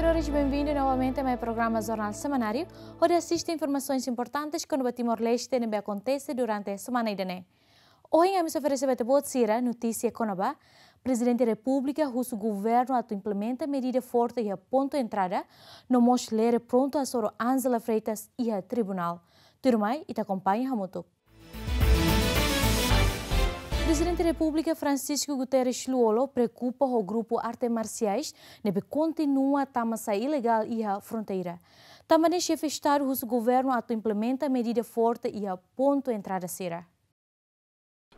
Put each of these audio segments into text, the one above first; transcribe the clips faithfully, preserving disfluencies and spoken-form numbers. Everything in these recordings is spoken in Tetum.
Senhores, bem-vindo novamente ao meu programa Jornal Semanário, hodi asiste informasoens importantes kona-ba Timor-Leste ne'ebé akontese durante semana ida-ne'e. Ohin ami sei oferese ba ita-boot sira notísia kona-ba Prezidente Repúblika husu governu atu implementa medida forte iha pontu entrada, no mós lere prontu hasoru Ángela Freitas iha tribunál. Tuirmai, ita akompaña hamutuk. Prezidente Repúblika Francisco Guterres Lú-Olo preokupa ho grupu arte marsiais ne'ebé kontinua tama sai ilegál iha fronteira. Tanba ne'e xefe Estadu husu governu atu implementa medida forte iha pontu entrada sira.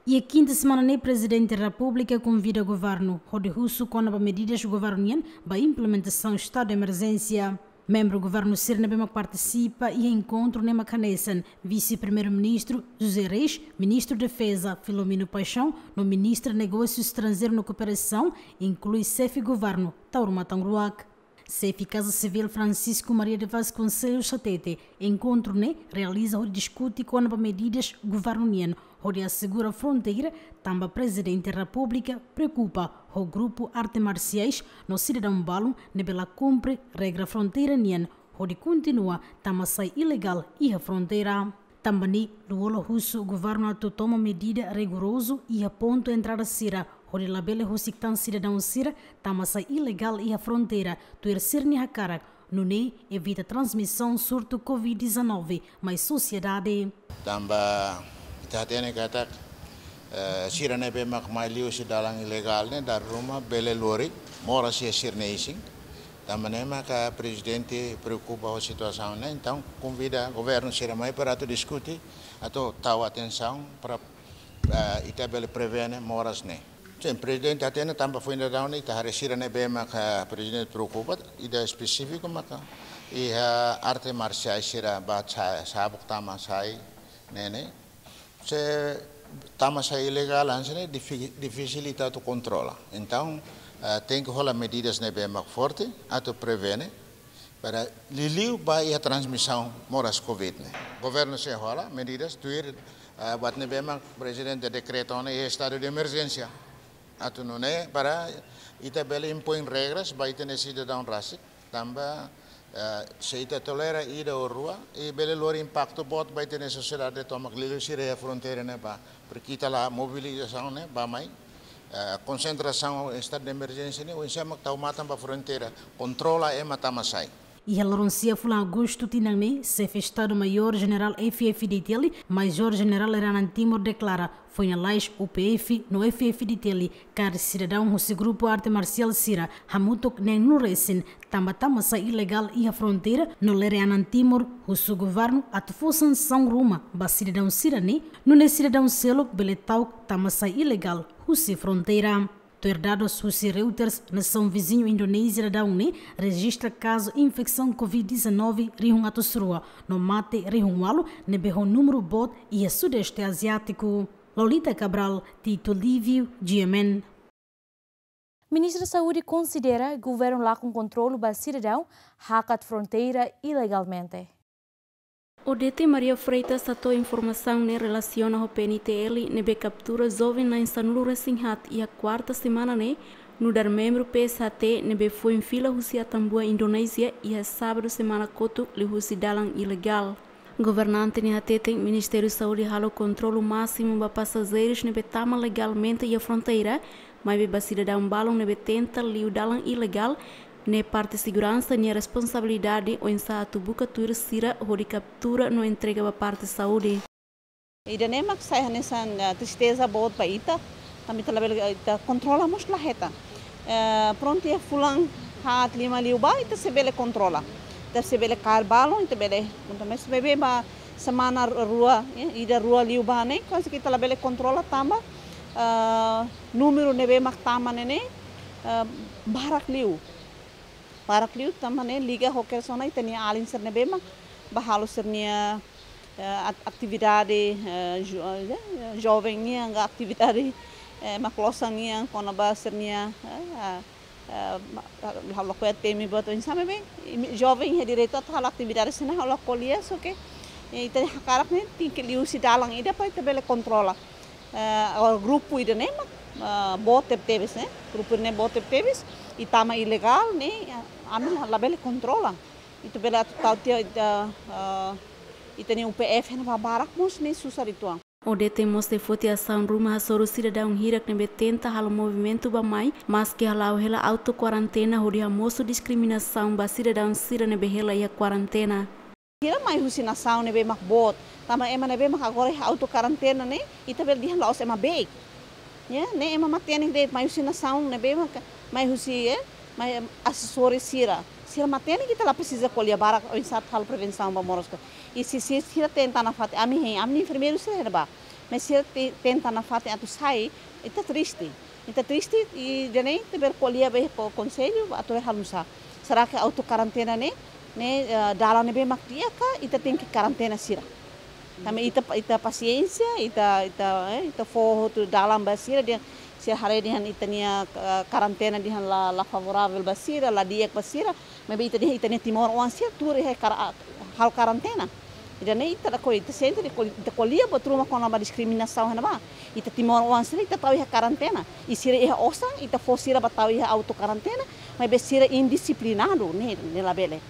Iha kinta semana ne'e Prezidente Repúblika konvida governu hodi husu kona-ba medidas governu nian ba implementasaun estadu de emerjénsia. Membru governu sira ne'ebé mak partisipa iha enkontru ne'e mak hanesan Vise-Primeiru-Ministru José Reis, Ministru Defeza Filomeno Paixão, no Ministru Negósiu Estranjeiru no Kooperasaun, inklui xefe governu Taur Matan Ruak. Xefe Kaza Sivíl Francisco Maria de Vasconcelos hatete, enkontru ne'e realiza hodi diskute kona-ba medidas governu nian hodi asegura fronteira, tanba Prezidente Repúblika preokupa ho grupu arte marsiais no sidadaun balun ne'ebé la kumpre regra fronteira nian hodi kontinua tama sai ilegál iha fronteira. Tanba ne'e, Lú-Olo husu governu atu toma medida rigorozu iha pontu entrada sira, hodi labele husik tan sidadaun sira tama sai ilegál iha fronteira, tuir sira-nia hakarak, nune'e evita transmisaun surtu covid dezanove mai sosiedade. Tanba ita hatene katak, eh, sira ne'ebé mak mai liu husi dalan ilegál ne'e dala ruma bele lori moras iha sira-nia isin. Tanba ne'e maka Prezidente preokupa ho situasaun ne'e, entaun konvida governu sira mai para atu diskute, atu tau atensaun para, eh, ita bele prevene moras ne'e. Sin, Prezidente hatene tanba foin daudaun ne'e ita haree sira ne'ebé maka Prezidente preokupa, ida espesífiku maka iha arte marsiais sira ba sa-, sabuk tama sai ne'e ne'e. Se tama sai ilegál hanesan ne'e difi-, difisil ita atu kontrola. Entaun, eh, tenke hola medidas ne'ebé mak forte atu prevene para liuliu ba iha transmisaun moras covid ne'e. Governu sei hola medidas tuir, eh, buat ne'ebé mak Prezidente dekreta ona iha estadu de emerjénsia. Atu nune'e para ita bele impoin regras ba ita-nia sidadaun rasik. Tanba, eh, se ita tolera ida ou rua, i bele lori impaktu boot ba ita-nia sosiedade tomak liuliu sira iha fronteira ne'ebá. Porque ita la mobilizasaun ne'e bá mai, eh, konsentrasaun estadu de emerjénsia ne'e, oinsá mak tau matan ba fronteira, kontrola ema tama sai. Iha loron sia fulan Agostu tinan ne'e, Xefe Estadu Maiór Jenerál F-FDTL, Maiór Jenerál Lere Anan Timur deklara, foin lalais U P F no F-FDTL kaer sidadaun husi grupu arte marsiál sira hamutuk neen-nulu resin, tanba tama sai ilegál iha fronteira, no Lere Anan Timur husu governu atu fó sansaun ruma ba sidadaun sira-ne'e, nune'e sidadaun seluk bele ta'uk tama sai ilegál husi fronteira. Tuir dadus husi Reuters, nasaun viziñu Indonézia daudaun ne'e rejista kazu infesaun covid dezanove rihun atus rua, no mate rihun ualu, ne'ebé ho númeru boot iha Sudeste Aziátiku. Lolita Cabral, Tito Lívio, G M N. Ministra Saúde konsidera governu lakon kontrolu ba sidadaun hakat fronteira ilegalmente. Odete Maria Freitas hato'o informasaun ne'e relasiona ho P N T L ne'ebé kaptura joven na'in sanulu resin haat iha kuarta semana ne'e, nu'udar membru P S H T ne'ebé foin fila husi Atambua, Indonézia, iha sábadu semana kotuk liuhusi dalan ilegál. Governante ne'e hateten Ministériu Saúde halo kontrolu másimu ba pasajeirus ne'ebé tama legalmente iha fronteira, maibé ba sidadaun balun ne'ebé tenta liu dalan ilegál, ne'e parte seguransa nia responsabilidade oinsá atu buka tuir sira hodi kaptura no entrega ba parte saúde. Ida-ne'e mak sai hanesan, eh, tristeza boot ba ita. Tanba ita labele, eh, ita kontrola mós la hetan. Eh, prontu, iha fulan haat lima liubá, ita sei bele kontrola. Ita sei bele kaer balun, ita bele kontrola. Mas beibeik ba semana rua, eh, ida rua liubá ne'e, kuaze ke ita labele kontrola tanba, eh, númeru ne'ebé mak tama ne'e ne'e, eh, barak liu. Barak liu tanba ne'e liga ho kedas ona ita-nia alin sira ne'ebé mak bá halo sira-nia, eh, at-, atividade, eh, jo-, eh, joven nian ka atividade, eh, mak klosan nian kona-ba sira-nia, eh, eh, ma-, ha'u lakohi temi buat oinsá maibé, imi-, joven iha direitu atu halo atividade sira-ne'e ha'u la ko'alia, só ke, eh, ita hakarak ne'e tenke liuhusi dalan ida para ita bele kontrola. Eh, agora grupu ida-ne'e mak, eh, boot tebetebes, ne'e? Grupu ne'e boot tebetebes. Ita mak ilegál ne'e, ami la, labele kontrola. Ita bele atu tau tiha ita, eh, ita-nia U P F ne'e ba barak mós ne'e susar uitoan. O D T mós foti asaun ruma hasoru sidadaun hirak ne'ebé tenta halo movimentu bá-mai, maski hala'o hela auto kuarentena hodi hamosu diskriminasaun ba sidadaun sira ne'ebé hela iha kuarentena. Sira mai husi nasaun ne'ebé mak boot, tanba ema ne'ebé mak agora iha auto kuarentena ne'e, ita bele dehan la'ós ema beik. Ya, ne'e ema matenek de'it, mai husi nasaun ne'ebé mak, mai husi, eh, mai, em, asesór sira. Sira matenek, ita la presiza ko'alia barak oinsá atu halo prevensaun ba moras ka. I se, se sira tenta nafatin, ami hein, ami enfermeiru sira iha ne'ebá. Mas sira te-, tenta nafatin atu sai, ita triste. Ita triste, ida-ne'e ita bele ko'alia ba iha ko-, konsellu, atu bele halo nusá. Será que auto kuarentena ne'e, ne'e, eh, dalan ne'ebé mak di'ak ka, ita tenke kuarentena sira. Tanba ita, ita pasiénsia, ita, ita, eh, ita fó hotu dalan ba sira dehan, sira haree dehan ita-nia, eh, kuarentena dehan la, la favoravel ba sira, la di'ak ba sira, maibé ita dehan ita-nia timoroan sira tuur iha kara-, halo kuarentena. Ida-ne'e ita lakohi, ita sente de'it ko'al-, ita ko'alia buat ruma kona-ba diskriminasaun iha ne'ebá. Ita timoroan sira ita tau iha kuarentena. I sira iha osan, ita fó sira bá tau iha auto kuarentena, maibé sira indisiplinadu, ne'e, ne'e labele.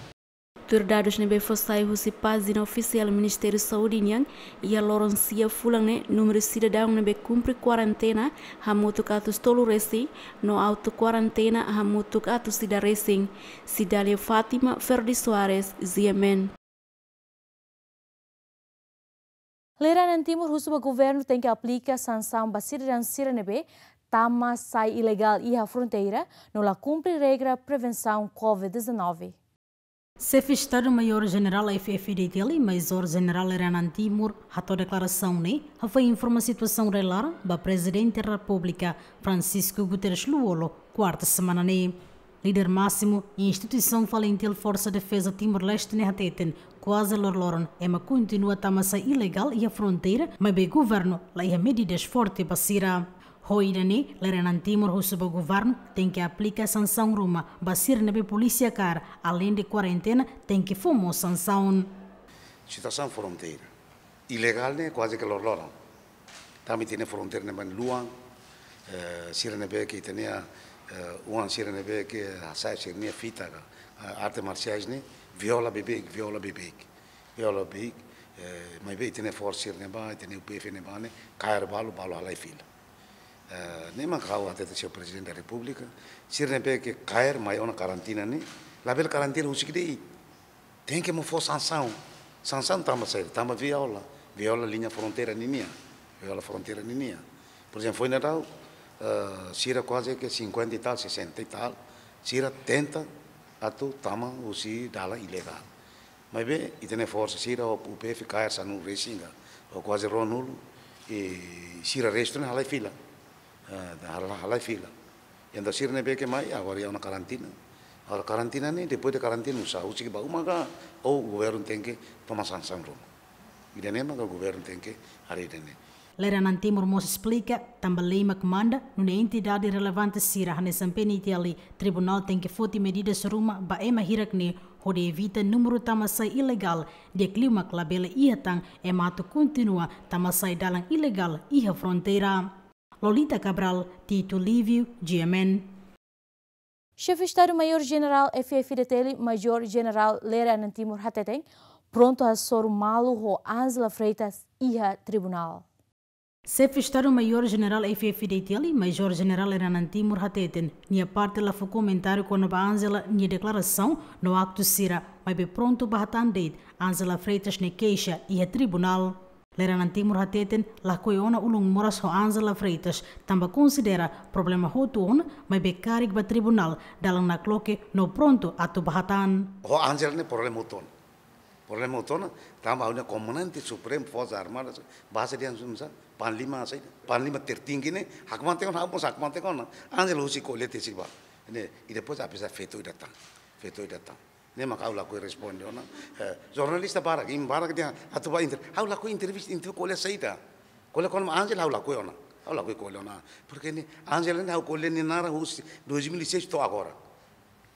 Tuir dadus ne'ebé fó sai husi pájina ofisiál Ministériu Saúde nian, iha loron sia fulan ne'e, númeru sidadaun ne'ebé kumpre kuarentena hamutuk atus tolu resin, no auto kuarentena hamutuk atus ida resin. Cidália Fátima, Ferdi Soares, G M N. Lere-anan Timor husu ba governu tenke aplika sansaun ba sidadaun sira ne'ebé tama sai ilegál iha fronteira, no la kumpre regra prevensaun Covid dezanove. Xefe Estadu Maiór Jenerál F F D T L, Majór Jenerál Lere-anan Timor, hato'o deklarasaun ne'e, hafoin informa situasaun rai-laran ba Prezidente Repúblika, Francisco Guterres Lú-Olo, kuarta semana ne'e. Líder másimu instituisaun FALINTIL Forsa Defeza Timor-Leste ne'e hateten, kuaze loroloron ema kontinua tama sai ilegál iha fronteira, maibé governu la iha medidas forte ba sira. Ho ida-ne'e, Lere-anan Timor husu ba governu tenke aplika sansaun ruma ba sira ne'ebé polísia kaer, aleinde kuarentena, tenke fó mós sansaun. Situasaun fronteira ilegál ne'e kuaze ke loroloron. Tanba ita-nia fronteira ne'e mak luan, eh, sira ne'ebé ke ita-nia, eh, oan sira ne'ebé ke hasa'e sira-nia fita ka, eh, arte marsiais ne'e, viola beibeik, viola beibeik. Viola beibeik, eh, maibé ita-nia forsa sira ne'ebá, ita-nia U P F ne'ebá ne'e, kaer balu, balu halai fila. Eh, ne'e mak ha'u hatete, señór Prezidente da Repúblika, sira ne'ebé ke kaer mai ona karantina ne'e, labele karantina husik de'it. Tenke mós fó sansaun. Sansaun tanba saida? Tanba viola. Viola liña fronteira ninian. Viola fronteira ninian. Por ezemplu, foin daudaun, eh, sira kuaze ke cinquenta e tal, sessenta e tal, sira tenta atu tama husi dalan ilegál. Maibé, ita-nia forsa sira, ho U P F kaer sanulu resin ka, ho kuaze ruanulu, i sira restu ne'e halai fila. Eh, hal-, halai fila. Entaun sira ne'ebé ke mai, agora iha ona karantina. Agora karantina ne'e, depois de karantina, nusá, husik bá uma ka, ou governu tenke toma sansaun ruma. Ida-ne'e maka governu tenke haree ida-ne'e. Lere-anan Timor mós esplika, tanba lei mak manda, nune'e entidade relevante sira hanesan P N T L, tribunál tenke foti medidas ruma ba ema hirak ne'e, hodi evita númeru tama sai ilegál, di'ak liu mak labele iha tan ema atu kontinua tama sai dalan ilegál iha fronteira. Lolita Cabral, Tito Lívio, G M N. Xefe Estadu Maiór Jenerál F F D T L, Majór Jenerál Lere-anan Timor hateten, prontu hasoru malu ho Ángela Freitas iha tribunál. Xefe Estadu Maiór Jenerál F F D T L, Majór Jenerál Lere-anan Timor hateten, nia parte la fó komentáriu kona-ba Ángela nia deklarasaun no aktu sira, maibé prontu bá hatán de'it Ángela Freitas nia keixa iha tribunál. Lere-anan Timor hateten, lakohi ona ulun moras ho Ángela Freitas, tanba konsidera problema hotu ona, maibé karik ba tribunál, dalan nakloke no prontu atu bá hatán. Ho Ángela ne'e problema hotu ona. Problema hotu ona, tanba ha'u-nia Komandante Supremu Forsas Armadas, base dehan sumsa, Panglima saida, Panglima tertinggi ne'e, hakmatek ona, ha'u mós hakmatek ona. Ángela husik ko'alia tesi ba. Ne'e, i depois apesar feto ida tan. Feto ida tan. Ne'e maka ha'u lakohi responde ona. Eh, jornalista barak, imi barak dehan atu bá inter-, ha'u lakohi entrevista, entrevista ko'alia saida. Ko'alia kona-ba Ángela ha'u lakohi ona. Ha'u lakohi ko'alia ona. Porke ne'e Ángela ne'e ha'u ko'alia nia naran husi dois mil e seis to'o agora.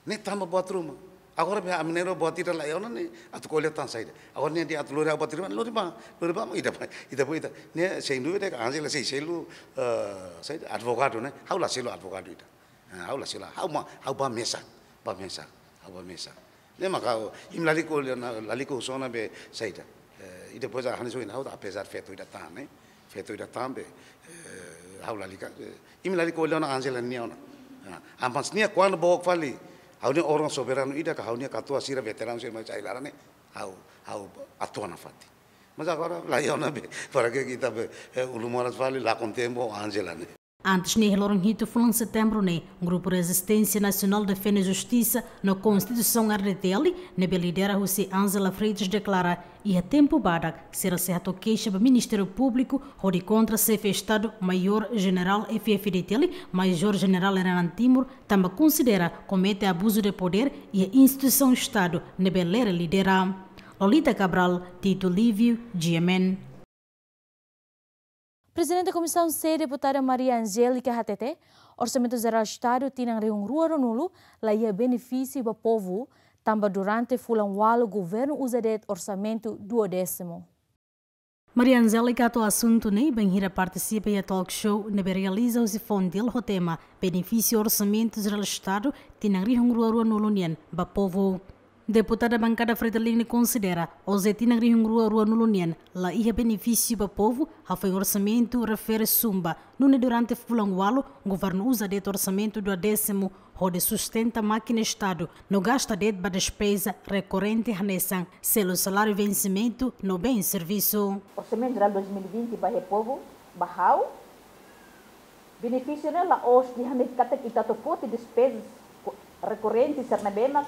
Ne'e tanba buat ruma. Agora be ami na'in-rua buat ida laiha ona ne'e atu ko'alia tan saida. Agora ne'e dehan atu lori ha'u buat ruma, lori bá, lori bá, ita bá, ita bá, ita. Ne'e sem dúvida ke Ángela sei selu, eh, saida, advogadu ne'e. Ha'u la selu advogadu ida. Ah, ha'u la sei la, ha'u ma, ha'u ba mesak, ba mesak, ha'u ba mesak. Ne'e mak ha'u, imi lalika, lalika husu ona be saida. Eh, i depois a hanesan ohin ha'u, apezar feto ida tan, ne'e. Feto ida tan be, eh, ha'u lalika, eh, imi lalika ona Angela nia ona. Ah, mas nia kuandu book fali, ha'u-nia órgaun soberanu ida ka ha'u-nia katuas sira veteranu sira mai sai laran ne'e, ha'u, ha'u atua nafatin. Mas agora, la iha ona be, para que kita be, eh, ulun moras fali, la kontente ho Angela ne'e. Antes ne'e, iha loron hitu fulan Setembru ne'e, Grupu Rezisténsia Nasionál Defende Justisa no Konstituisaun R D T L, ne'ebé lidera husi Angela Freitas deklara, iha tempu badak, sira sei hato'o keixa ba Ministériu Públiku, hodi kontra Xefe Estadu Maiór Jenerál F F D T L, Major Jenerál Renan Timur, tanba konsidera komete abuzu de podér iha instituisaun Estadu ne'ebé Lere lidera. Lolita Cabral, Tito Lívio, G M N. Prezidente Komisaun C, Deputada Maria Angélica hatete, Orsamentu Jerál Estadu tinan rihun rua ruanulu la iha benefísiu ba povu, tanba durante fulan ualu governu uza de'it orsamentu duodésimu. Maria Angélica hato'o asuntu ne'e bainhira partisipa iha talk show ne'ebé realiza husi Fontil ho tema Benefísiu Orsamentu Jerál Estadu tinan rihun rua ruanulu nian ba povu. Deputada Bankada Fretilin ne'e konsidera, ohin tinan rihun rua ruanulu nian la iha benefísiu ba povu, hafoin orsamentu refere sumba, nune'e durante fulan ualu, governu uza de'it orsamentu duodésimu, hodi sustenta mákina Estadu, no gasta de'it ba despeza rekorrente hanesan selu saláriu vensimentu no bens servisu. Orsamentu Jerál dois mil e vinte ba iha povu, ba ha'u, benefísiu ne'e la'ós dehan katak ita atu foti despezas ko-, rekorrente sira ne'ebé mak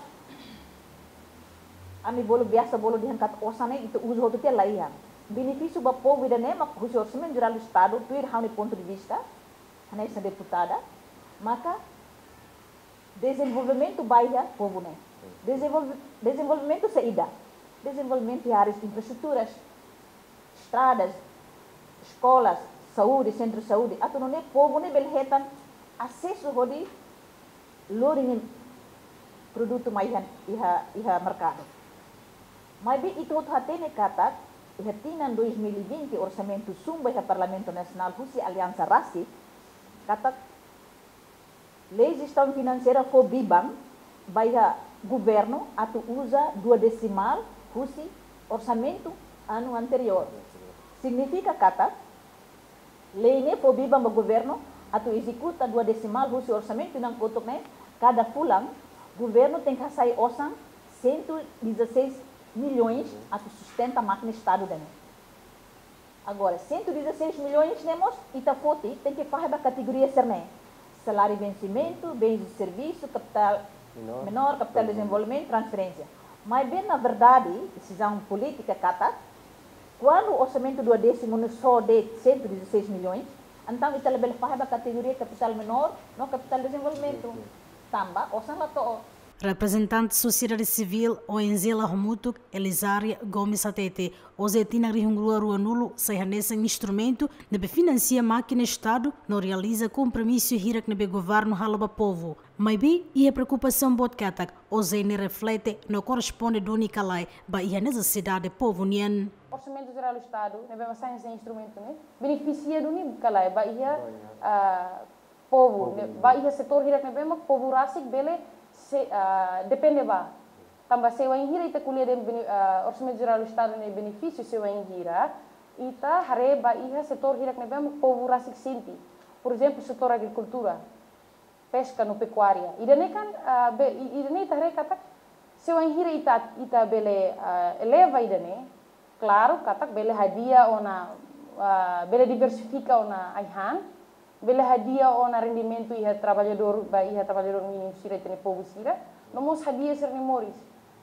ami bolu biasa bolu dehan katak osan ne'e ita uza hotu tiha, la iha. Benefísiu ba povu ida-ne'e mak husi Orsamentu Jerál Estadu, tuir ha'u-nia pontu de vista, hanesan deputada, maka dezenvolvimentu ba iha povu ne'e. Dezenvolve-, dezenvolvimentu saida? Dezenvolvimentu iha áreas infraestruturas, estradas, eskolas, saúde, sentru saúde, atu nune'e povu ne'e bele hetan asesu hodi lori nia produtu mai iha, iha, iha merkadu. Maibé ita hotu hatene katak, iha tinan dois mil e vinte orsamentu sumba iha Parlamentu Nasionál husi aliansa rasik, katak Lei Jestaun Finanseira fó biban ba iha governu atu uza duodesimál husi orsamentu anu anteriór. Signifika katak, lei ne'e fó biban ba governu atu ezekuta duodesimál husi orsamentu tinan kotuk ne'e, kada fulan, governu tenke hasai osan cento e dezasseis milhões atu sustenta mákina Estadu ida-ne'e. Agora, cento e dezasseis milhões ne'e mós, ita foti, tenke fahe ba kategoria sira-ne'e. Saláriu vensimentu, bens de servisu, kapitál menór, kapitál dezenvolvimentu, transferénsia. Maibé, na verdade, desizaun polítika katak, kuandu orsamentu duodésimu ne'e só de'it cento e dezasseis milhões, entaun ita labele fahe ba kategoria kapitál menór, no kapitál dezenvolvimentu. Tanba, osan la to'o. Reprezentante sosiedade sivíl, O N G la hamutuk, Elisária Gomes hatete, ohin tinan rihun rua ruanulu sai hanesan instrumentu ne'ebé finansia mákina Estadu no realiza kompromisu hirak ne'ebé governu halo ba povu. Maibé, iha preokupasaun boot katak, ohin ne'e reflete no korresponde duni ka lae ba iha nesesidade povu nian. Orsamentu Jerál Estadu, ne'ebé mak sai hanesan instrumentu ne'e, benefisia duni ka lae ba iha, ba iha, ah, povu, povu ne'e, nian. Ba iha setór hirak ne'ebé mak povu rasik bele se, ah, depende ba. Tanba se wainhira ita ko'alia dehan bene-, ah, Orsamentu Jerál Estadu nia benefísiu se wainhira ita haree ba iha setór hirak ne'ebé mak povu rasik sente. Por ezemplu, setór agrikultura, peska no pekuária. Ida-ne'e kan, ah, be-, i-, ida-ne'e ita haree katak, se wainhira ita, ita bele, ah, eleva ida-ne'e, klaru, katak bele hadi'a ona, ah, bele diversifika ona ai-han, bele hadi'a ona rendimentu iha traballadór, ba iha traballadór mínimu sira, ita-nia povu sira, no mós hadi'a sira-nia moris.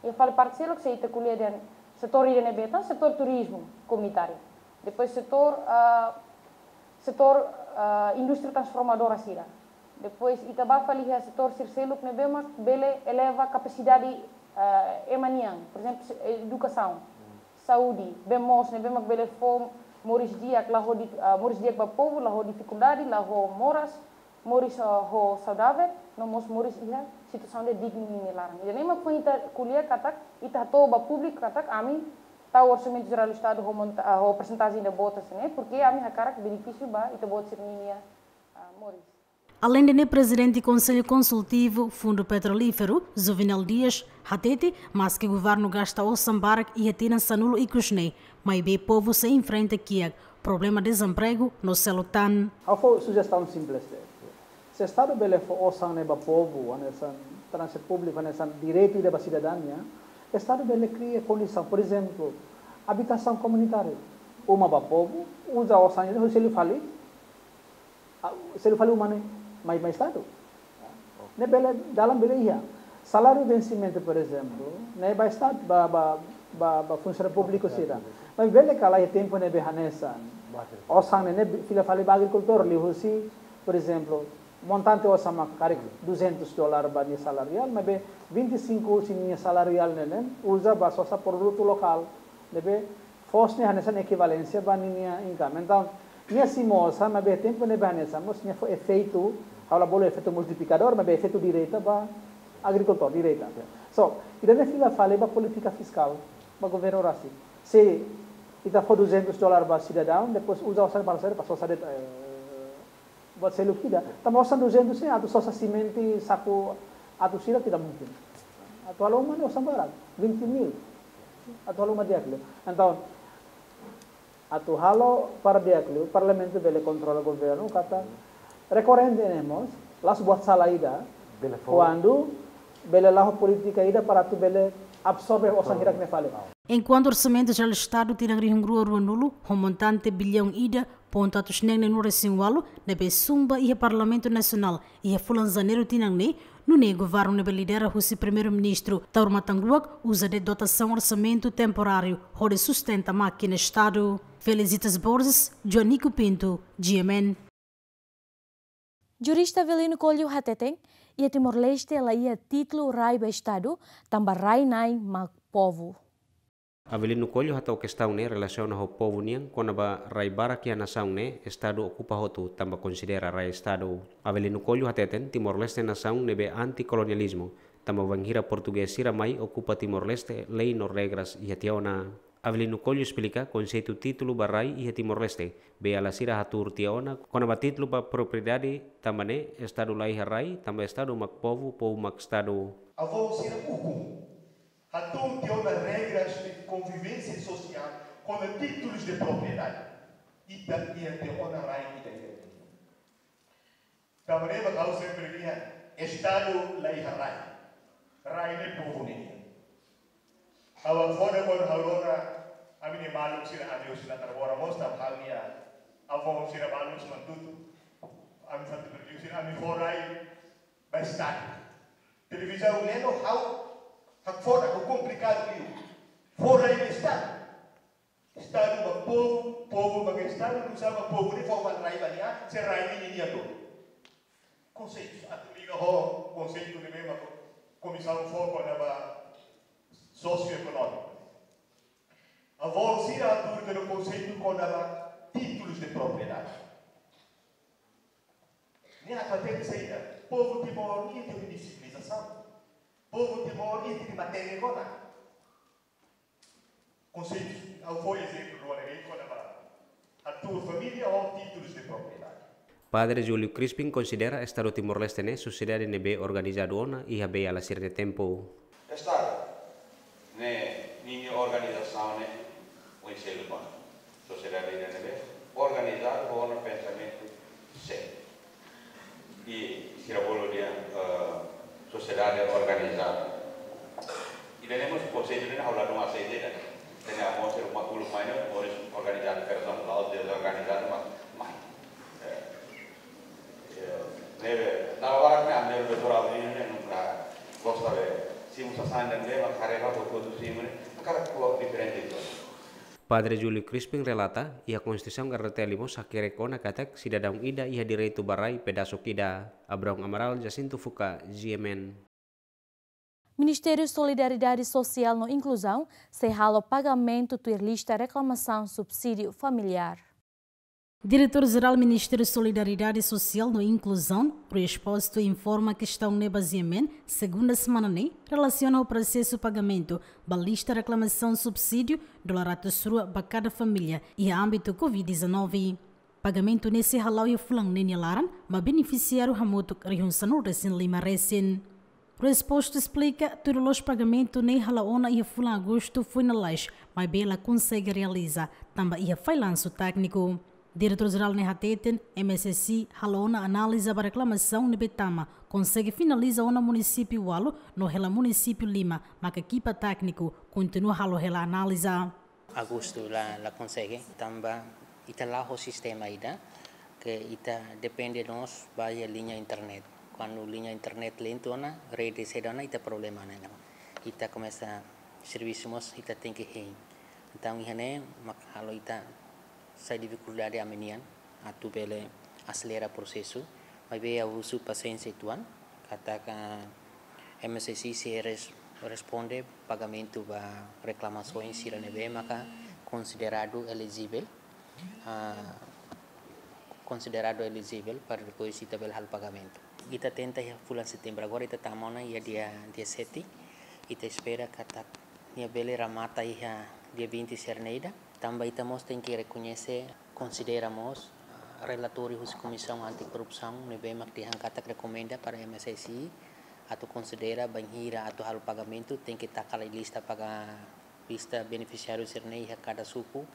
Iha fali parte seluk se ita ko'alia dehan setór ida ne'ebé tan, setór turizmu komunitáriu. Depois setór, ah, setór, ah, indústria transformadora sira. Depois ita bá fali iha setór sira seluk ne'ebé mak bele eleva kapasidade, ah, ema nian, por ezemplu, se-, edukasaun, saúde, bee moos ne'ebé mak bele fó moris di'ak la ho di-, ah, moris di'ak ba povu, la ho difikuldade, la ho moras, moris, ah, ho saudavel, no mós moris iha situasaun ida dignu ninia laran. Ida-ne'e mak foin ita ko'alia katak, ita hato'o ba públiku katak, ami tau Orsamentu Jerál Estadu ho monta-, ah, ho persentajen ida boot hanesan ne'e, porke ami hakarak benefísiu ba ita-boot sira-ninia, ah, moris. Aleinde ne'e, Prezidente Konsellu Konsultivu Fundu Petrolíferu, Juvenal Dias, hatete, maske governu gasta osan barak iha tinan sanulu ikus ne'e, maibé povu sei enfrenta kiak problema dezempregu no seluk tan. Ha'u fó sujestaun simples de'it. Se Estadu bele fó osan ne'e ba povu, hanesan transporte públiku, hanesan direitu ida ba sidadaun nian, Estadu bele kria kondisaun, por ezemplu, abitasaun komunitáriu. Uma ba povu, uza osan ne'e, selu fali, ah, selu fali uma ne'e mai, mai Estadu. Ne'e bele, dalan bele iha. Saláriu vensimentu, por ezemplu, ne'e ba Estadu, ba, ba, ba, ba funsionáriu públiku sira. Mas bele ka lae tempu ne'ebé hanesan osan ne'e, ne'e fila fali ba agrikultór, liuhusi, por ezemplu, montante osan mak karik duzentus dolar ba nia saláriu reál, maibé vinte e cinco husi nia saláriu reál ne'e, ne'e uza ba sosa produtu lokál, ne'ebé foos ne'e hanesan ekivalénsia ba ninia income. Entaun, nia simu osan, maibé tempu ne'ebé hanesan mós nia fó efeitu, ha'u la bolu efeitu multiplikadór, maibé efeitu direta ba agrikultór, direta. So, ida-ne'e fila fali ba polítika fiskál ba governu rasik. Se ita fó duzentus dolar ba sidadaun, depois uza osan para sair, para sosa de'it, eh, buat seluk ida. Tanba osan duzentus ne'e atu sosa simente saku atus ida, tidak mungkin. Atu halo uma ne'e osan barak, vinte mil. Atu halo uma di'ak liu. Entaun, atu halo para di'ak liu, Parlamentu bele kontrola governu, katak rekorrente ne'e mós, la'ós buat sala ida, bele fó, kuandu bele la'o polítika ida para atu bele absorve osan hirak ne'e fali. Enkuantu Orsamentu Jerál Estadu tinan rihun rua ruanulu, ho montante biliaun ida pontu atus neen neenulu resin ualu, ne'ebé sun ba iha Parlamentu Nasionál iha fulan Janeiru tinan ne'e, nune'e governu ne'ebé lidera husi Primeiru-Ministru Taur Matan Ruak uza de'it dotasaun orsamentu temporáriu hodi sustenta mákina Estadu. Felicitas Borges, Joanico Pinto, G M N. Jurista Avelino Coelho hateten, iha Timor-Leste la iha títulu rai ba Estadu, tanba rai-na'in mak povu. Avelino Coelho hato'o kestaun ne'e relasiona ho povu nian kona-ba rai barak iha nasaun ne'e Estadu okupa hotu tanba konsidera rai Estadu. Avelino Coelho hateten Timor-Leste nasaun ne'ebé anti-kolonializmu, tanba bainhira portugés sira mai okupa Timor-Leste, lei no regras iha tiha ona. Avelino Coelho esplika konseitu títulu ba rai iha Timor-Leste, beiala sira hatuur tiha ona kona-ba títulu ba propriedade, tanba ne'e Estadu la iha rai, tanba Estadu mak povu, povu mak Estadu. Avó sira ukun hatuur tiha ona regras de convivência social kona títulus de propriedade. Ita iha tiha ona rai ida-idak. Tanba ne'e mak ha'u sempre dehan, Estadu la iha rai. Rai ne'e povu nian. Ha'u hakfodak kuandu ha'u rona ami-nia maluk sira, ami husi Natarbora mós, tanba ha'u-nia avó sira balun husi Manatutu. Ami fatu berdiu sira, ami fó rai ba Estadu. Televizaun ne'e no ha'u hakfodak, ha'u komplikadu liu. Fó rai ba Estadu. Estadu ba povu, povu ba Estadu, nusá mak povu ne'e fó fali rai ba nia, se rai ne'e ninia duni. Konseitu, atu liga ho konseitu ne'ebé mak komisaun fó kona-ba sosioekonómiku. Avó sira hatuur tiha ona konseitu kona-ba títulus de propriedade. Ne'e atu hateten saida, povu Timor iha tiha nia sivilizasaun. Povu Timor iha tiha nia matenek ona. Konseitu, ha'u fó ezemplu rua ne'e kona-ba hatuur família ho títulus de propriedade. Padre Júlio Crispim konsidera Estadu Timor-Leste ne'e sosiedade ne'ebé organizadu ona iha beiala sira-nia tempu. Estadu ne'e ninia organizasaun ne'e oin seluk ona. Sosiedade ida ne'ebé organizadu ho ona pensamentu sé. I sira bolu dehan, eh, sosiedade organizada. Ida-ne'e mós konseitu ne'e ha'u ladún aseita ida. Tanba mós sira mak uluk mai ne'e, moris organizadu, persona la'ós dezorganizadu, mas mai. Eh, eh, ne'ebé, na hora ne'e, ami doutora Avelino ne'e, nunka gosta de, simu sasán ne'ebé, mas karrega, dokumentu simu ne'e, hakarak ko'alia diferente, entaun. Padre Júlio Crispim relata, iha Konstituisaun R D T L mós hakerek ona katak sidadaun ida iha direitu ba rai pedasuk ida. Abraão Amaral, Jacinto Fuca, G M N. Ministériu Solidariedade Sosiál no Inkluzaun sei halo pagamentu tuir lista reklamasaun subsídiu familiár. Diretór Jerál Ministériu Solidariedade Sosiál no Inkluzaun, Rui Expósito, informa kestaun ne'e ba G M N, segunda semana ne'e, relasiona ho prosesu pagamentu ba lista reklamasaun subsídiu dolar atus rua ba kada família iha ámbitu covid dezanove. Pagamentu ne'e sei hala'o iha fulan ne'e nia laran, maibé benefisiáriu hamutuk rihun sanulu-resin-lima resin. Resposta esplika, tuir loloos pagamentu ne'e hala'o ona iha fulan Agostu foin lalais, maibé la konsege realiza, tanba iha fallansu tékniku. Diretór Jerál ne'e hateten, M S S I hala'o ona analiza ba reklamasaun ne'ebé tama, konsege finaliza ona munisípiu ualu no hela munisípiu lima, maka ekipa tékniku kontinua halo hela analiza. Agostu la, la konsege, tanba ita la'o ho sistema ida, ke ita depende mós ba iha liña internet. Kuandu liña internet lentu ona, rede seda ona, ita problema ona. Ita komesa servisu mós, ita tenke hein. Entaun, iha ne'e mak halo ita sai difikuldade ami-nian atu bele aselera prosesu. Maibé ha'u husu pasiénsia uitoan, katak M S S I sei res-, responde pagamentu ba reklamasaun sira ne'ebé maka konsideradu elijivel, ah, konsideradu elijivel para depois ita bele halo pagamentu. Ita tenta iha fulan Setembru, agora ita tama ona iha dia, dia sete, ita espera katak nia bele remata iha dia vinte sira-ne'e ida. Tanba ita mós tenke rekoñese, konsidera mós, ah, relatóriu husi Komisaun Anti-Korrupsaun ne'ebé mak dehan katak rekomenda para M S S I atu konsidera bainhira atu halo pagamentu, tenke taka lai lista paga-, lista benefisiáriu sira-ne'e iha kada suku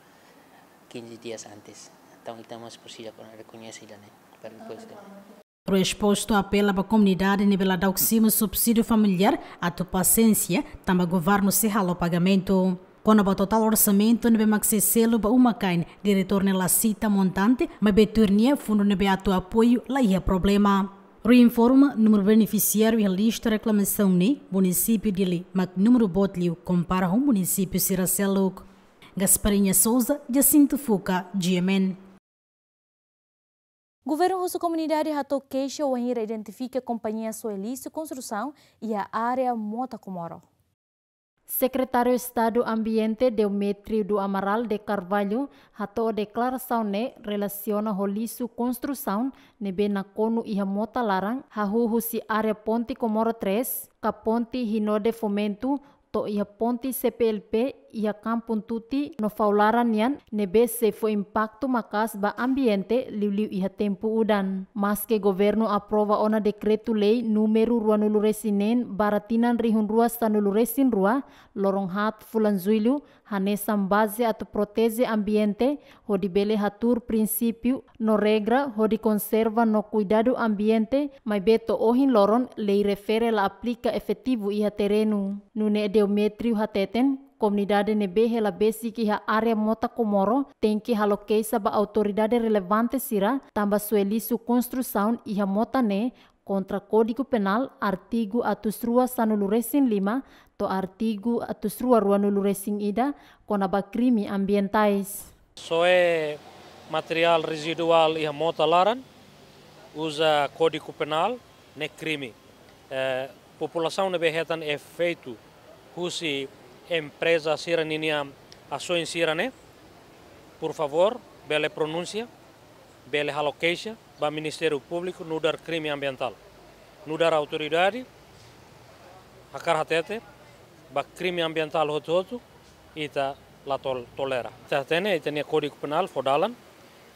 quinze dias antes. Entaun, ita mós presiza rekoñese ida-ne'e para depois de. Resposta apela ba komunidade ne'ebé la daudaun simu subsídiu familiár atu pasiénsia, tanba governu sei halo pagamentu. Kona-ba totál orsamentu ne'ebé mak sei selu ba uma-kain, diretór ne'e la sita montante, maibé tuir nia fundu ne'ebé atu apoiu la iha problema. Rui informa, númeru benefisiáriu iha lista reklamasaun ne'e, munisípiu Dili mak númeru boot liu kompara ho munisípiu sira seluk. Gasparinha Souza, Jacinto Fuca, G M N. Governu husu komunidade hato'o keixa wainhira identifika kompañia soe lixu konstrusaun iha área Mota Comoro. Sekretáriu Estadu Ambiente Demetrio do Amaral de Carvalho hato'o deklarasaun ne'e relasiona ho lixu konstrusaun ne'ebé nakonu iha mota laran hahú husi área Ponte Comoro três, ka Ponte Rinode Fomento, to'o iha ponte C P L P iha Kampung Tuti no Faularan nian, ne'ebé sei fó impaktu maka'as ba ambiente liuliu iha tempu udan. Maske governu aprova ona dekretu-lei númeru ruanulu-resin-neen barra tinan rihun rua sanulu-resin-rua, loron haat fulan Jullu, hanesan baze atu proteje ambiente, hodi bele hatuur prinsípiu no regra hodi konserva no kuidadu ambiente, maibé to'o ohin loron lei refere la aplika efetivu iha terrenu. Nune'e Demetrio hateten, komunidade ne'ebé hela besik iha área Mota Comoro tenke halo keixa ba autoridade relevante sira, tanba soe lixu konstrusaun iha mota ne'e kontra Kódigu Penál artigu atus rua sanulu-resin-lima to'o artigu atus rua ruanulu-resin-ida kona-ba krime ambientais. Soe materiál reziduál iha mota laran, uza Kódigu Penál ne'e krime. Eh, populasaun ne'ebé hetan efeitu husi empreza sira ninia asaun sira-ne'e, por favór, bele pronunsia, bele halo keixa ba Ministériu Públiku nu'udar krime ambientál. Nu'udar autoridade, hakarak hatete, ba krime ambientál hotu-hotu, ita la tol-, tolera. Ita hatene, ita-nia Kódigu Penál fó dalan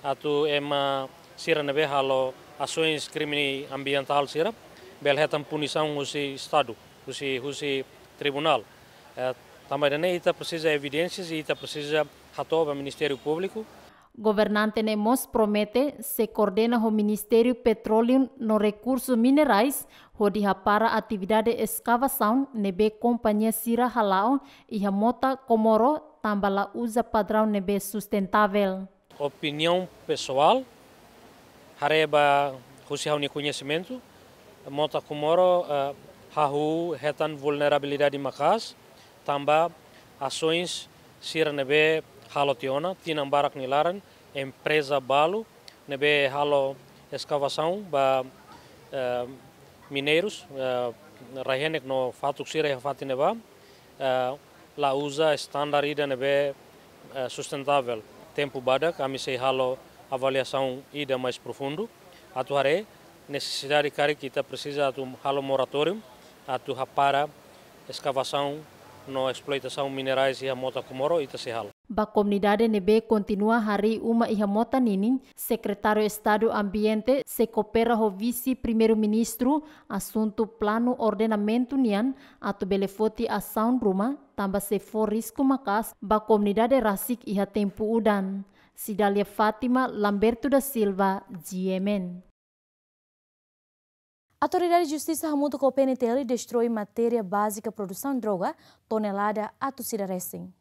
atu ema sira ne'ebé halo asaun krime ambientál sira bele hetan punisaun husi Estadu, husi, husi tribunál. Eh, tanba ida-ne'e ita presiza evidénsias i ita presiza hato'o ba Ministériu Públiku. Governante ne'e mós promete sei koordena ho Ministériu Petróleu no Rekursu Minerais hodi hapara atividade eskavasaun ne'ebé kompañia sira hala'o iha Mota Comoro tanba la uza padraun ne'ebé sustentável. Opiniaun pesoál, haree ba husi ha'u-nia koñesimentu, Mota Comoro, eh, hahú hetan vulnerabilidade maka'as, tanba asaun sira ne'ebé halo tiha ona, tinan barak nia laran, empreza balu ne'ebé halo eskavasaun ba, eh, mineirus, eh, rai-henek no fatuk sira iha fatin ne'ebá, eh, la uza estandar ida ne'ebé, eh, sustentável. Tempu badak, ami sei halo avaliasaun ida mais profundu, atu haree nesesidade karik ita presiza atu halo moratóriu, atu hapara eskavasaun no esploitasaun minerais iha Mota Comoro, ita sei halo. Ba komunidade ne'ebé kontinua harii uma iha mota ninin, Sekretáriu Estadu Ambiente sei koopera ho Vise-Primeiru-Ministru asuntu planu ordenamentu nian atu bele foti asaun ruma, tanba sei fó risku maka'as ba komunidade rasik iha tempu udan. Cidália Fátima, Lamberto da Silva, G M N. Autoridade Justisa hamutuk ho P N T L destroi matéria bázika produsaun droga tonelada atus ida resin.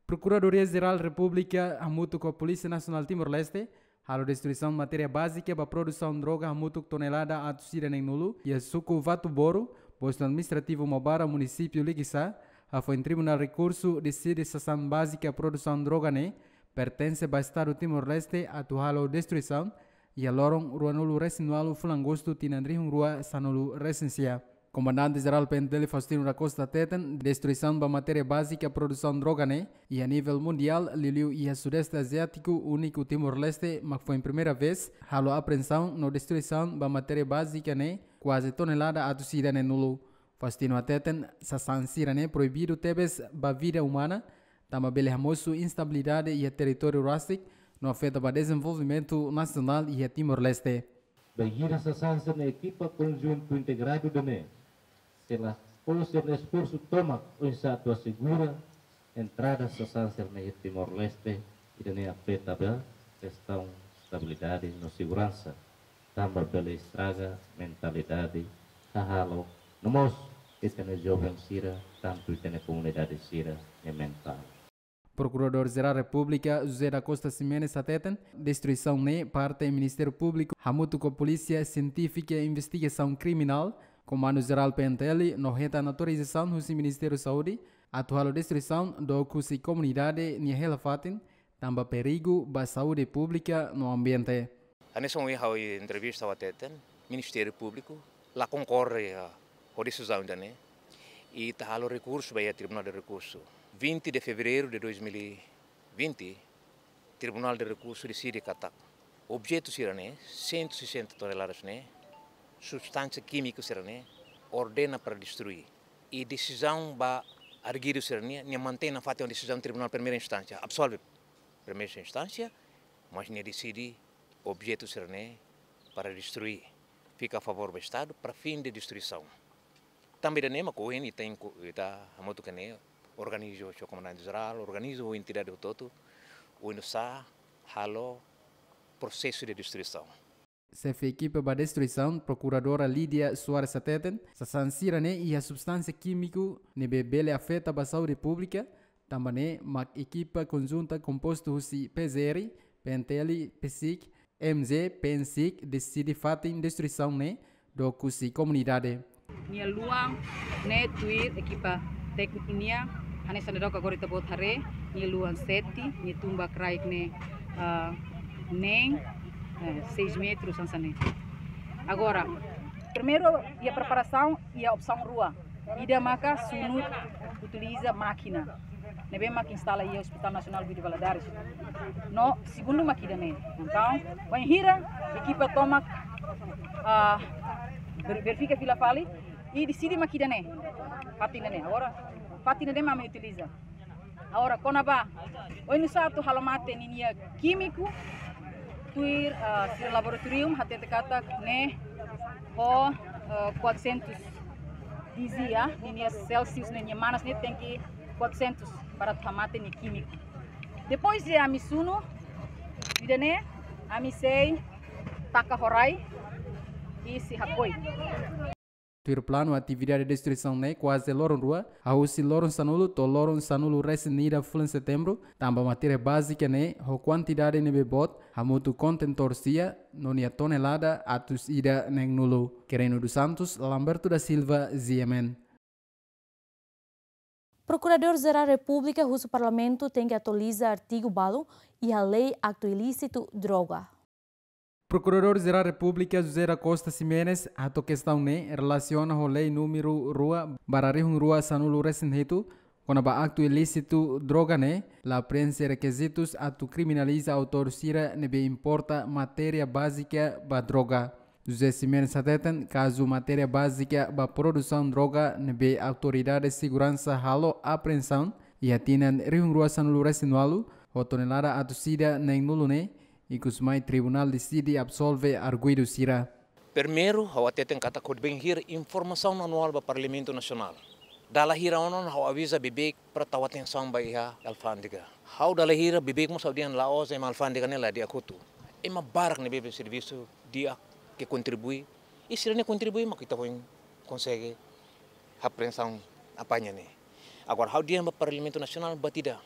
Prokuradoria Jerál Repúblika hamutuk ho Polísia Nasionál Timor-Leste halo destruisaun matéria bázika ba produsaun droga hamutuk tonelada atus ida neen-nulu iha suku Vatuboru, postu administrativu Maubara, munisípiu Likisá, hafoin Tribunál Rekursu deside sasán bázika produsaun droga ne'e pertense ba Estadu Timor-Leste atu halo destruisaun iha loron ruanulu resin ualu fulan Agostu tinan rihun rua sanulu resin sia. Komandante Jerál P N T L Faustino da Costa hateten, destruisaun ba matéria bázika produsaun droga ne'e iha nivel mundiál, liuliu iha Sudeste Aziátiku úniku Timor-Leste mak foin primeira vez halo apreensaun no destruisaun ba matéria bázika ne'e kuaze tonelada atus ida neen-nulu. Faustino hateten, sasán sira-ne'e proibidu tebes ba vida umana, tanba bele hamosu instabilidade iha territóriu rasik, no afeta ba dezenvolvimentu nasionál iha Timor-Leste. Bainhira sasán sira-ne'e ekipa konjuntu integradu ida-ne'e sei la fó sira-nia esforsu tomak oinsá atu asegura entrada sasán sira-ne'e iha Timor-Leste, ida-ne'e afeta ba kestaun estabilidade no seguransa, tanba bele estraga mentalidade hahalok, no mós ita-nia joven sira, tantu ita-nia komunidade sira-nia mentál. Prokuradór Jerál Repúblika José da Costa Ximenes hateten, destruisaun ne'e parte Ministériu Públiku hamutuk ho Polísia Sientífika Investigasaun Kriminál, Komandu Jerál P N T L, no hetan autorizasaun husi Ministériu Saúde atu halo destruisaun dook husi komunidade nia hela-fatin, tanba perigu ba saúde públika no ambiente. Hanesan ohin ha'u entrevista ha'u hateten, Ministériu Públiku la konkorda, ah, ho desizaun ida-ne'e, i ita halo rekursu ba iha Tribunál de Rekursu. Vinte de Fevereiro de dois mil e vinte, Tribunál de Rekursu deside katak objetu sira-ne'e, cento e sessenta toneladas ne'e, substánsia kímiku sira-ne'e, ordena para destrui. I desizaun ba arguidu sira-ne'e, nia mantein nafatin desizaun Tribunál Primeira Instánsia, absolve Primeira Instánsia, mas nia deside objetu sira-ne'e para destrui, fika a favór ba Estadu para fin de destruisaun. Tanba ida-ne'e mak ohin ita tenke, ita hamutuk ho ne'e, organiza ho Komandante Jerál, organiza ho entidade hotu-hotu, oinsá halo prosesu de destruisaun. Xefe ekipa ba destruisaun, Prokuradora Lídia Soares hateten, sasán sira-ne'e iha substánsia kímiku ne'ebé bele afeta ba saúde públika, tanba ne'e mak ekipa konjunta kompostu husi P J R, P N T L, PCIC, M J, PNCIC deside fatin destruisaun ne'e dook husi komunidade. Nia luan ne'e tuir ekipa tékniku nian, hanesan ne'e dook agora ita-boot haree, nia luan sete, nia tumba kraik ne'e, ah, neen, eh, seis metros hanesan ne'e. Agora, primeiru, iha preparasaun, iha opsaun rua. Ida maka sunu utiliza mákina ne'ebé mak instala iha Hospital Nasionál Guido Valadares. No segundu mak ida-ne'e. Entaun, bainhira ekipa tomak, ah, ver-, verifika fila fali i deside mak ida-ne'e. Fatin ida-ne'e. Agora, fatin ida-ne'e mak ami utiliza. Agora, kona-ba oinsá atu halo mate ninia kímiku, tuir, ah, sira laboratóriu hatete katak ne'e ho, ah, quatrocentos dizia, ninia Celsius, ninia manas ne'e tenke quatrocentos para atu hamate nia kímiku. Depois de ami sunu ida-ne'e, ami sei taka ho rai i sei hakoi. Tuir planu, atividade destruisaun ne'e kuaze loron rua, hahú husi loron sanulu to'o loron sanulu resin ida fulan Setembru, tanba matéria bázika ne'e ho kuantidade ne'ebé boot, hamutuk kontentór sia, no nia tonelada atus ida neen-nulu. Quereno dos Santos, Lamberto da Silva, G M N. Prokuradór Jerál Repúblika husu Parlamentu tenke atualiza artigu balu iha Lei Aktu Ilísitu Droga. Prokuradór Jerál Repúblika José da Costa Ximenes hato'o kestaun ne'e relasiona ho Lei númeru rua barra rihun rua sanulu resin hitu, kona-ba aktu ilísitu droga ne'e la preenxe rekizitus atu kriminaliza autór sira ne'ebé importa matéria bázika ba droga. José Ximenes hateten, kazu matéria bázika ba produsaun droga ne'ebé autoridade seguransa halo apreensaun, Iha tinan rihun rua sanulu resin ualu, ho tonelada atus ida neen-nulu ne'e, ikus mai tribunál deside absolve arguidu sira. Primeiru, ha'u hateten katak hodi bainhira informasaun anuál ba Parlamentu Nasionál, dala hira ona ha'u aviza beibeik para tau atensaun ba iha alfándega. Ha'u dala hira beibeik mós ha'u dehan la'ós ema alfándega ne'e la di'ak hotu. Ema barak ne'ebé servisu di'ak, ke kontribui. I sira-ne'e kontribui mak ita foin konsege apreensaun apaña ne'e. Agora, ha'u dehan ba Parlamentu Nasionál, buat ida.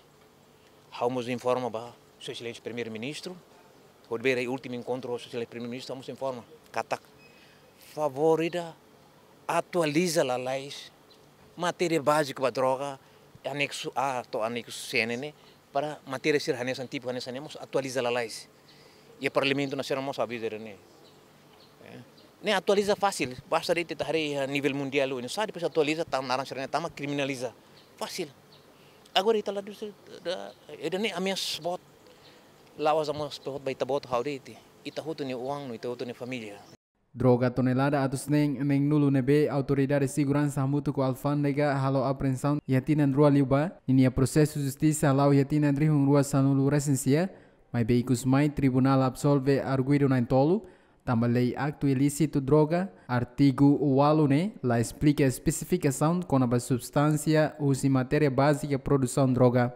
Ha'u mós informa ba Sua Exelénsia Primeiru-Ministru, hodi bele últimu enkontru Sua Exelénsia Primeiru-Ministru, ha'u mós informa katak favór ida atualiza lalais matéria báziku ba droga, aneksu A to'o aneksu C ne'e, para matéria sira hanesan, tipu hanesan ne'e mós atualiza lalais. I Parlamentu Nasionál mós aviza ne'e. Eh, ne'e atualiza fasil, basta de'it ita haree iha nivel mundiál, no sa depois atualiza, tau naran sira-ne'e tama kriminaliza. Fasil. Agora ita la dus, da, ida-ne'e ameasa boot, la'ós ameasa boot ba ita-boot, ha'u de'it. Ita hotu nia oan, no ita hotu nia família. Droga tonelada atus neen neen-nulu ne'ebé Autoridade Seguransa hamutuk ho alfándega halo apreensaun iha tinan rua liubá, ninia prosesu justisa hala'o iha tinan rihun rua sanulu resin sia, maibé ikus mai tribunál absolve arguidu na'in-tolu, tanba lei aktu ilísitu droga, artigu ualu ne'e, la esplika espesifikasaun kona-ba substánsia husi matéria bázika produsaun droga.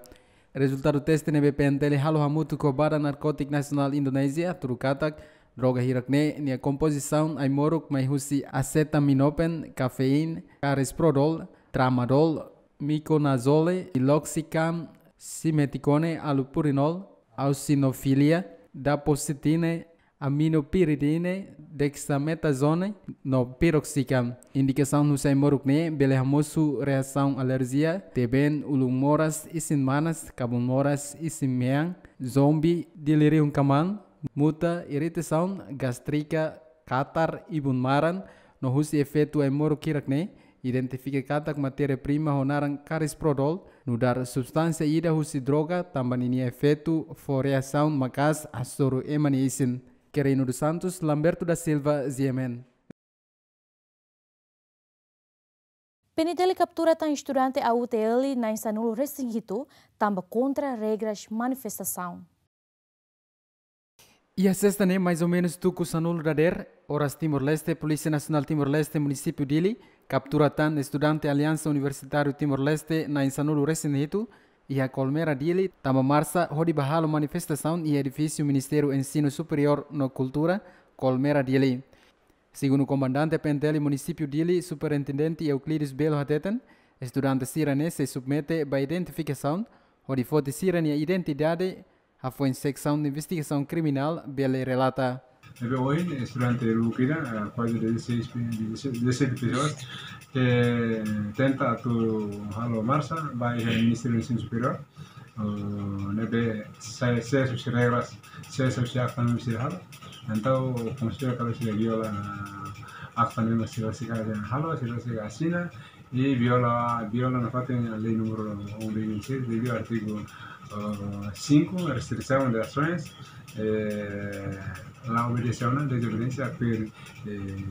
Rezultadu teste ne'ebé P N T L halo hamutuk ho Badan Narkótiku Nasionál Indonézia hatudu katak droga hirak-ne'e nia kompozisaun ai-moruk mai husi acetaminofén, kafeína, carisoprodol, tramadol, miconazole, piloxicam, simeticone, allopurinol, eosinofilia, duoxetina, aminopiridine, dexametazone, no piroxicam. Indikasaun husi ai-moruk ne'e bele hamosu reasaun alerjia, teben ulun moras isin-manas, kabun moras isin-mean, zombi, delíriu kamaan, muta, iritasaun, gástrika, katar, ibun-maran, no husi efeitu ai-moruk hirak-ne'e, identifika katak matéria-prima ho naran carisoprodol, nu'udar substánsia ida husi droga, tanba ninia efeitu fó reasaun maka'as hasoru ema nia isin. Querino dos Santos, Lamberto da Silva, G M N. P N T L kaptura tan estudante A U T L na'in sanulu resin hitu, tanba kontra regras manifestasaun. Iha sesta ne'e, mais ou menus tuku sanulu dadeer, oras Timor-Leste, Polísia Nasionál Timor-Leste, Munisípiu Dili, kaptura tan estudante Aliansa Universitáriu Timor-Leste na'in sanulu resin hitu, iha Colmera Dili, tanba marsa hodi bá halo manifestasaun iha edifísiu Ministériu Ensinu Superiór no Kultura, Colmera Dili. Segundu Komandante P N T L Munisípiu Dili, Superintendente Euclides Belo hateten, estudante sira-ne'e sei submete ba identifikasaun, hodi foti sira-nia identidade, hafoin Seksaun de Investigasaun Kriminál bele relata. Ne'ebé ohin, estudante rua ida, ah, kuaze dezasseis, dezasseis, dezasseis pessoas, ke tenta atu halo marsa ba iha Ministériu Ensinu Superiór, oh, ne'ebé sees husi regras, sees husi akta ne'ebé sira halo. Entaun, konsidera katak sira viola akta ne'ebé sira, sira halo, sira, sira asina, i viola, viola nafatin lei númeru um de vinte e seis, liuliu artigu, ah, cinco, restrição de ações, eh, la obedece a una desobediencia per, eh,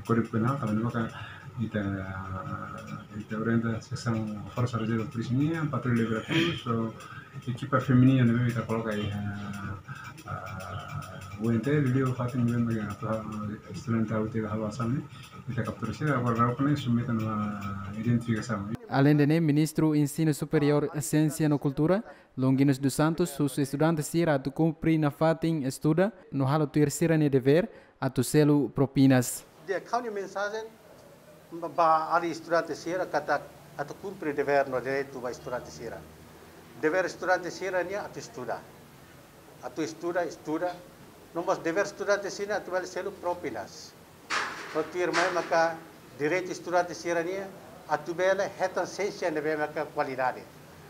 Código Penal, tanba ne'e maka ita, ita orienta seksaun Forsa Rezerva Polísia nian, patrulla obrigatóriu, so ekipa feminina ne'ebé ita koloka iha, ah, U N T L, liuliu fatin ne'ebé mak atu estudante A U T L halo asaun ne'e, ita kaptura sira, agora daudaun ne'e submete ona identifikasaun. Aleinde ne'e, Ministru Ensinu Superiór, Siénsia no Kultura, Longuinus dos Santos, husu estudante sira atu kumpre nafatin estuda, no halo tuir sira-nia devér, atu selu propinas. Di'ak, ha'u-nia mensajen ba, ba alin estudante sira katak atu kumpre devér no direitu ba estudante sira. Devér estudante sira-nian atu estuda. Atu estuda, estuda. No mós devér estudante sira-nian atu bele selu propinas. No tuirmai maka direitu estudante sira-nian atu bele hetan siénsia ne'ebé maka kualidade.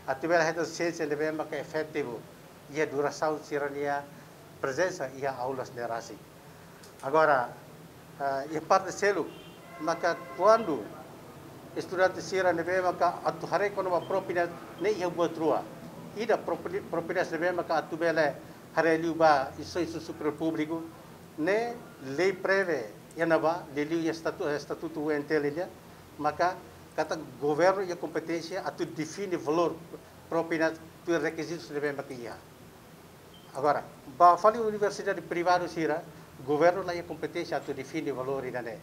Atu bele hetan siénsia ne'ebé maka efetivu iha durasaun sira-nia prezensa iha aulas ne'e rasik. Agora, ah, iha parte seluk, maka kuandu estudante sira ne'ebé maka atu haree kona-ba propinas ne'e iha buat rua. Ida propi-, propinas ne'ebé maka atu bele haree liu ba instituisaun superiór públiku, ne'e lei prevee iha ne'ebá, liuliu iha estatu-, estatutu U N T L nian, maka katak governu iha kompeténsia atu define valór Propina tuir rekizitus ne'ebé mak iha. Agora, ba fali universidade privadu sira, governu la iha kompeténsia atu define valór ida-ne'e.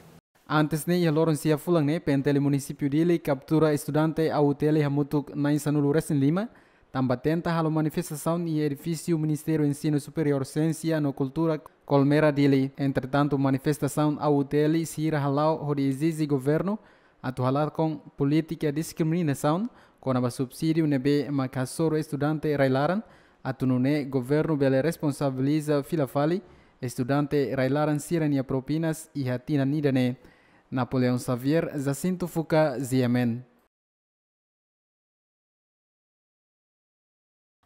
Antes ne'e, iha loron sia fulan ne'e, P N T L Munisípiu Dili kaptura estudante A U T L hamutuk na'in sanulu-resin-lima, tanba tenta halo manifestasaun iha edifísiu Ministériu Ensinu Superiór, Siénsia no Kultura, Colmera Dili. Entretantu, manifestasaun A U T L sira hala'o hodi ezije governu atu halakon polítika diskriminasaun kona-ba subsídiu ne'ebé mak hasoru estudante rai-laran, atu nune'e governu bele responsabiliza fila fali estudante rai-laran sira-nia propinas iha tinan ida-ne'e. Napoleão Xavier, Jacinto Fuca, G M N.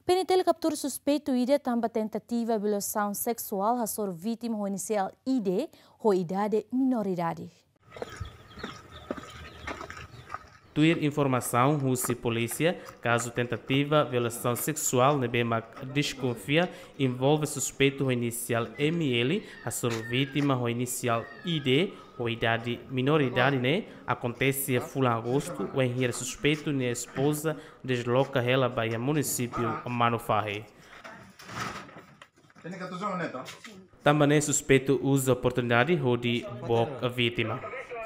P N T L kaptura suspeitu ida tanba tentativa violasaun seksuál hasoru vítima ho inisiál I D ho idade minoridade. Tuir informasaun husi polísia, kazu tentativa violasaun seksuál ne'ebé mak deskonfia envolve suspeitu ho inisiál M L hasoru vítima ho inisiál I D ho idade minoridade ne'e akontese iha fulan Agostu, wainhira suspeitu nia espoza desloka hela ba iha munisípiu Manufahi. Tanba ne'e suspeitu uza oportunidade hodi book vítima.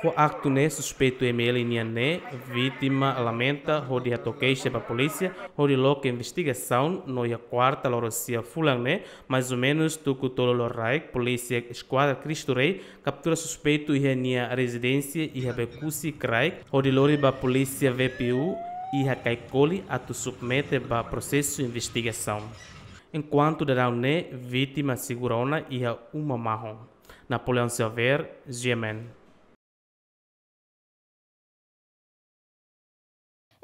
Ho aktu ne'e suspeitu M L nian ne'e, vítima lamenta hodi hato'o keixa ba polísia hodi loke investigasaun no iha kuarta loron sia fulan ne'e, mais ou menus tuku tolu loraik, polísia Eskuadra Cristo Rei kaptura suspeitu iha nia rezidénsia iha Becusi, Kraik, hodi lori ba polísia V P U iha Caicoli atu submete ba prosesu investigasaun. Enkuantu daudaun ne'e, vítima segura ona iha uma mahon. Napoleão Xavier, G M N.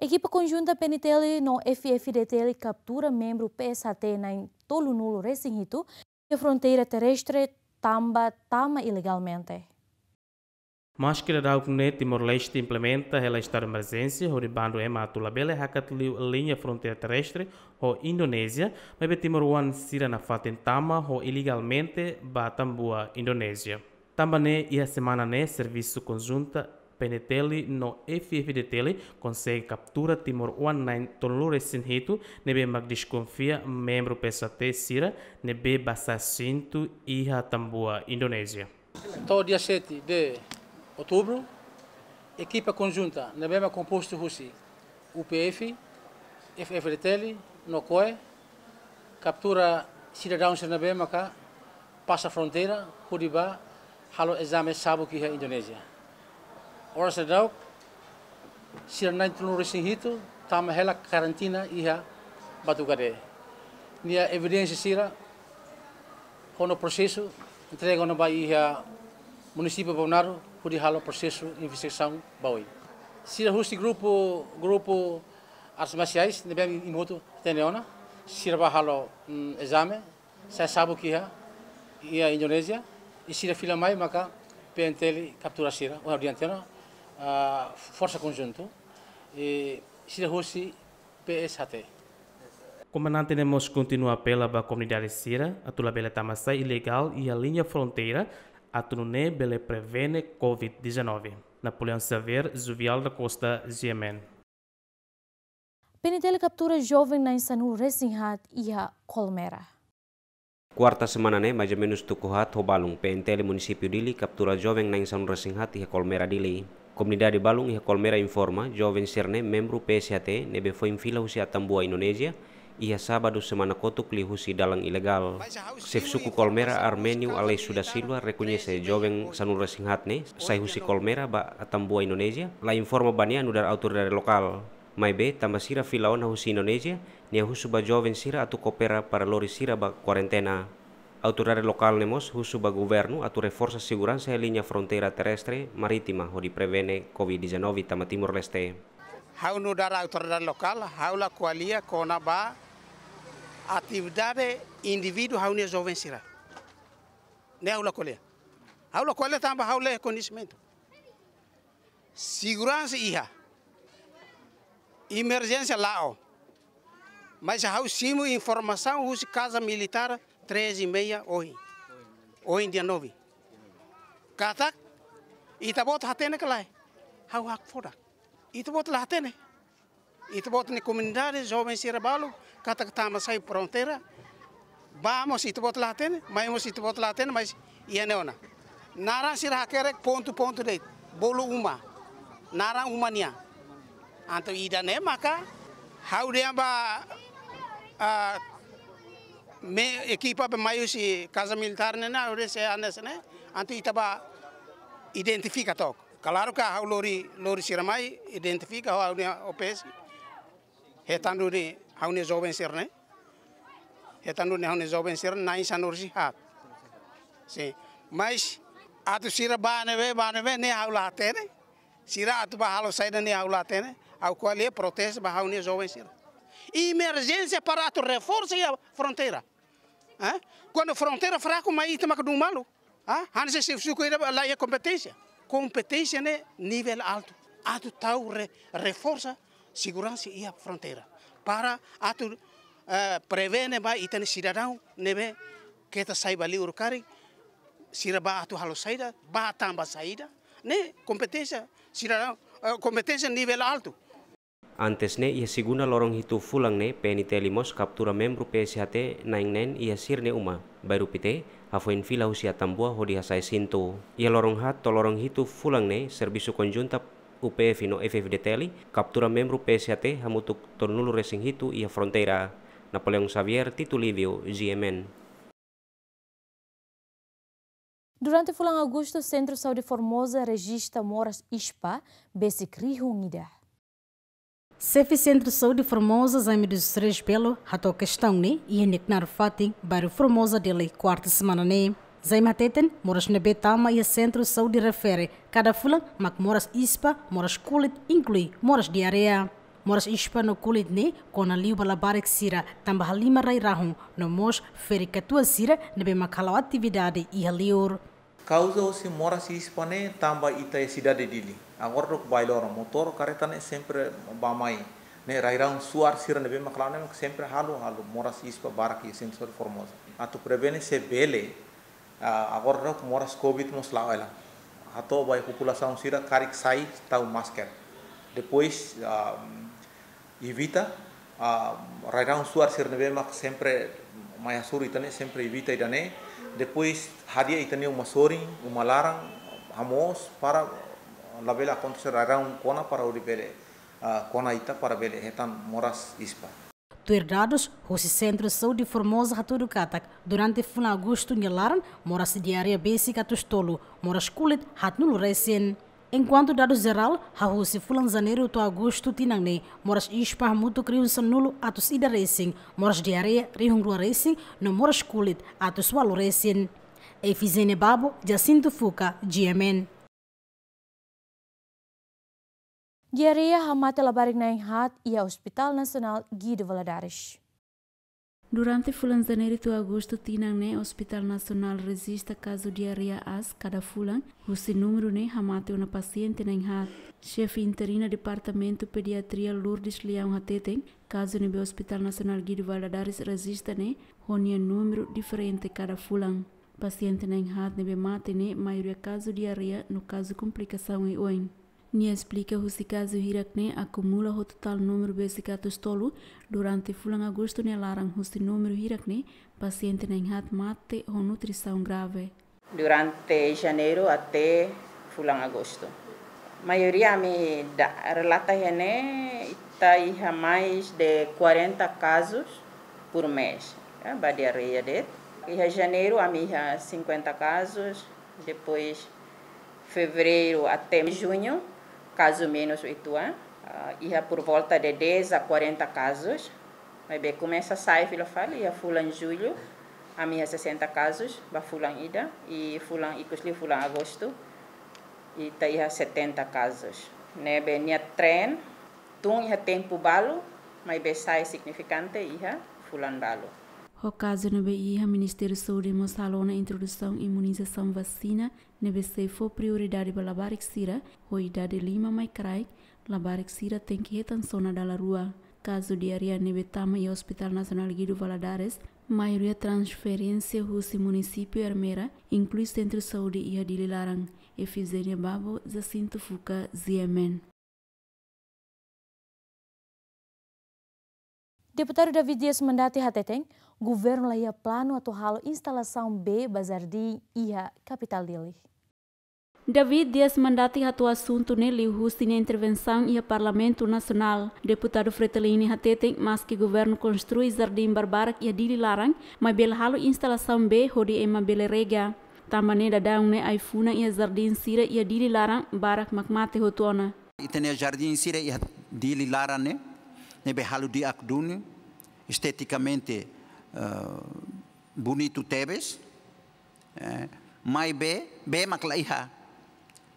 Ekipa konjunta P N T L no F F D T L kaptura membru P S H T na'in tolunulu-resin-hitu iha fronteira terrestre tanba tama ilegalmente. Maske daudaun ne'e Timor-Leste implementa hela estadu emerjénsia hodi bandu ema atu labele hakat liu liña fronteira terrestre ho Indonézia, maibé timoroan sira nafatin tama ho ilegalmente ba Tambua, Indonézia. Tanba ne'e, iha semana ne'e servisu konjunta P N T L no F F D T L konsege kaptura timoroan na'in tolunulu-resin-hitu ne'ebé mak deskonfia membru P S H T sira ne'ebé basa asentu iha Tambua, Indonézia. To'o dia sete de outubro, ekipa konjunta ne'ebé mak kompostu husi U P F, F F D T L no koe kaptura sidadaun sira ne'ebé maka pasa fronteira hodi bá halo ezame sabuk iha Indonézia. Oras daudauk sira na'in tolunulu-resin-hitu tama hela karantina iha Batugade. Nia evidénsia sira ho nia prosesu entrega ona ba iha munisípiu Bamnadu hodi halo prosesu investigasaun ba oin. Sira husi grupu, grupu artes marsiais ne'ebé imi hotu hatene ona, sira bá halo, mm, ezame, sai sabuk iha, iha Indonézia, i sira fila mai maka P N T L kaptura sira, ohin ha'u dehan tiha ona, ah, forsa konjuntu, i sira husi P S H T. Komandante ne'e mós kontinua apela ba komunidade sira atu labele tama-sai ilegál iha liña fronteira, atu nune'e bele prevene covid dezanove. Napoleão Xavier, Juvial da Costa, G M N. P N T L kaptura joven na'in sanulu-resin-haat iha Colmera. Kuarta semana ne'e, mais ou menus tuku haat ho balun, P N T L Munisípiu Dili kaptura joven na'in sanulu-resin-haat iha Colmera, Dili. Komunidade balun iha Colmera informa, joven sira-ne'e membru P S H T ne'ebé foin fila husi Atambua, Indonézia, iha sábadu semana kotuk liuhusi dalan ilegál. Xefe suku Colmera, Arménio Aleixo da Silva, rekoñese joven sanulu-resin-haat ne'e sai husi Colmera ba Atambua, Indonézia, la informa ba nia nu'udar autoridade lokál. Maibé, tanba sira fila ona husi Indonézia, nia husu ba joven sira atu koopera para lori sira ba kuarentena. Autoridade lokál ne'e mós husu ba governu atu reforsa seguransa iha liña fronteira terrestre marítima hodi prevene covid dezanove tama Timor-Leste. Ha'u nu'udar autoridade lokál, ha'u la ko'alia kona-ba atividade indivíduu ha'u-nia joven sira. Ne'e ha'u la ko'alia. Ha'u la ko'alia tanba ha'u la iha koñesimentu. Seguransa iha. Emerjénsia la'o. Mais ha'u simu informasaun husi Kaza Militár treze e meia ohin. Ohin dia nove. Katak, ita-boot hatene ka lae? Ha'u hakfodak. Ita-boot la hatene. Ita-boot nia komunidade, joven sira balu, katak tama sai fronteira. Bá mós ita-boot la hatene, mai mós ita-boot la hatene, mas iha ne'e ona. Naran sira hakerek pontu-pontu de'it, bolu uma. Naran uma nian. Entaun ida-ne'e maka, ha'u dehan ba, ah, me ekipa be mai husi Kaza Militár ne'e, ha'u dehan se hanesan ne'e, entaun ita bá identifika took. Klaru katak ha'u lori, lori sira mai, identifika, ha'u-nia O P S. Hetan duni ha'u-nia joven sira-ne'e. Hetan duni ha'u-nia joven sira-ne'e, na'in sanulu-resin-haat. Sin. Mas, atu sira bá ne'ebé, bá ne'ebé, ne'e ha'u la hatene. Sira atu bá halo saida ne'e ha'u la hatene. Ha'u ko'alia protestu ba ha'u-nia joven sira. Emerjénsia para atu reforsa iha fronteira. Eh? Kuandu fronteira fraku, mai ita maka dun malu. Ah, hanesan xefe suku ida la iha kompeténsia. Kompeténsia ne'e nivel altu. Atu tau re-, reforsa seguransa iha fronteira. Para atu, eh, prevene ba ita-nia sidadaun ne'ebé keta sai ba liur karik, sira bá atu halo saida, bá tanba saida. Ne'e kompeténsia sidadaun, eh, kompeténsia nivel altu. Antes ne'e, iha segunda loron hitu fulan ne'e, P N T L mós kaptura membru P S H T na'in neen iha sira-nia uma, bairru Pité, hafoin fila husi Atambua hodi hasa'e sintu. Iha loron haat to'o loron hitu fulan ne'e, servisu konjunta U P F no F F D T L kaptura membru P S H T hamutuk tolunulu-resin-hitu iha fronteira. Napoleão Xavier, Tito Livio, G M N. Durante fulan Agostu, Sentru Saúde Formosa rejista moras ispa besik rihun ida. Xefe Sentru Saúde Formosa, Jaime dos Reis Belo, hato'o kestaun ne'e iha nia knaar fatin, bairru Formosa, Dili, kuarta semana ne'e. Jaime hateten, moras ne'ebé tama iha sentru saúde refere kada fulan mak moras ispa, moras kulit, inklui moras diarreia. Moras ispa no kulit ne'e kona liu ba labarik sira tanba halimar rai-rahun no mós ferik-katuas sira ne'ebé mak hala'o atividade iha liur. Kauza husi moras ispa ne'e tanba ita iha sidade Dili. Agora daudauk bailoro, motór, karreta ne'e sempre bá-mai. Ne'e rai-rahun suar sira ne'ebé mak la'o ne'e mak sempre halo, halo moras ispa barak iha sentru saúde Formosa. Atu prevene se bele, ah, agora daudauk moras covid mós la'o hela. Hato'o ba iha populasaun sira karik sai tau masker. Depois, ah, evita, ah, rai-rahun suar sira ne'ebé mak sempre mai hasoru ita ne'e, sempre evita ida-ne'e. Depois hadi'a ita-nia uma sorin, uma laran, hamoos para labele akontese rai-rahun kona para hodi bele, ah, kona ita para bele hetan moras ispa. Tuir dadus husi Sentru Saúde Formosa hatudu katak, durante fulan Agostu nia laran, moras diarreia besik atus tolu, moras kulit haatnulu-resin. Enkuantu dadus jerál, hahú husi fulan Janeiru to'o Agostu tinan ne'e, moras ispa hamutuk rihun sanulu atus ida-resin, moras diarreia rihun rua-resin, no moras kulit atus ualu-resin. Efigénia Babo, Jacinto Fuca, G M N. Diarreia hamate labarik na'in haat iha Hospital Nasionál Guido Valadares. Durante fulan Janeiru to'o Agostu tinan ne'e, Hospital Nasionál rejista kazu diarreia aas kada fulan, husi númeru ne'e hamate ona pasiente na'in haat. Xefe interina Departamentu Pediatria Lourdes Leão hateten, kazu ne'ebé Hospital Nasionál Guido Valadares rejista ne'e ho nia númeru diferente kada fulan. Pasiente na'in haat ne'ebé mate ne'e maioria kazu diarreia no kazu komplikasaun oioin. Nia esplika husi kazu hirak ne'e akumula ho totál númeru besik atus tolu durante fulan Agostu nia laran, husi númeru hirak ne'e pasiente na'in haat mate ho nutrisaun grave. Durante Janeiru até fulan Agostu, maioria ami da-, relata iha ne'e ita iha mais de quarenta casos por mês, ya, ba diarreia de'it. Iha Janeiru ami iha cinquenta casos, depois Fevereiro até Junho, kazu menus uitoan, ah, iha por volta de dez a quarenta casos. Maibé komesa sai fila fali, iha fulan Jullu, ami iha sessenta casos, ba fulan ida, i fulan ikus liu fulan Agostu, ita iha setenta casos. Ne'ebé nia trend, tun iha tempu balu, maibé sai signifikante iha fulan balu. Ho kazu ne'ebé iha, Ministériu Saúde mós halo ona introdusaun imunizasaun vasina, ne'ebé sei fó prioridade ba labarik sira ho idade lima mai kraik, labarik sira tenke hetan sona dala rua. Kazu diarreia ne'ebé tama iha Hospital Nasionál Guido Valadares, maioria transferénsia husi munisípiu Ermera, inklui Sentru Saúde iha Dili laran. Efigénia Babo, Jacinto Fuca, G M N. Deputadu David Dias Mandati hateten, governu la iha planu atu halo instalasaun bee ba jardín iha kapitál Dili. David Dias Mandati hato'o asuntu ne'e liuhusi nia intervensaun iha Parlamentu Nasionál. Deputadu Fretilin ne'e hateten, maski governu konstrui jardín barbarak iha Dili laran, maibé la halo instalasaun bee hodi ema bele rega. Tanba ne'e daudaun ne'e ai-funan iha jardín sira iha Dili laran barak mak mate hotu ona. Ita-nia jardín sira iha Dili laran ne'e, ne'ebé halo di'ak duni, estetikamente, eh, bonitu tebes, eh, maibé bee mak la iha.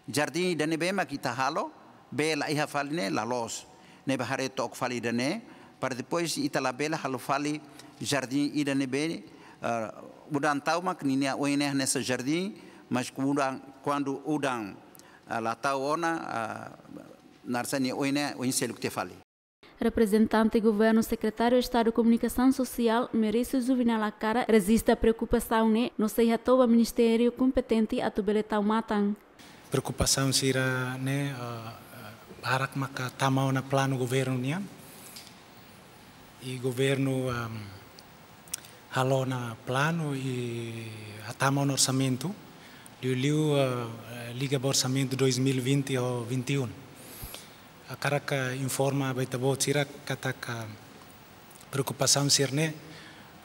Jardín ida-ne'ebé mak ita halo, bee la iha fali ne'e la loos. Ne'ebé haree took fali ida-ne'e, para depois ita labele halo fali jardín ida-ne'ebé, eh, udan tau mak ninia oin ne'e hanesan jardín, mas kuandu, kuandu udan, eh, la tau ona, eh, naran sá nia oin ne'e, oin seluk tiha fali. Reprezentante Governu, Sekretáriu Estadu Komunikasaun Sosiál, Merício Juvenal Acara, rejista preokupasaun ne'e no sei hato'o ba ministériu kompetente atu bele tau matan. Preokupasaun sira-ne'e, eh, barak maka tama ona planu governu nian. I governu, ehm, halo ona planu i hatama ona orsamentu, liuliu, eh, liga ba orsamentu dois mil e vinte ho vinte e um. Hakarak informa ba ita-boot sira katak preokupasaun sira-ne'e,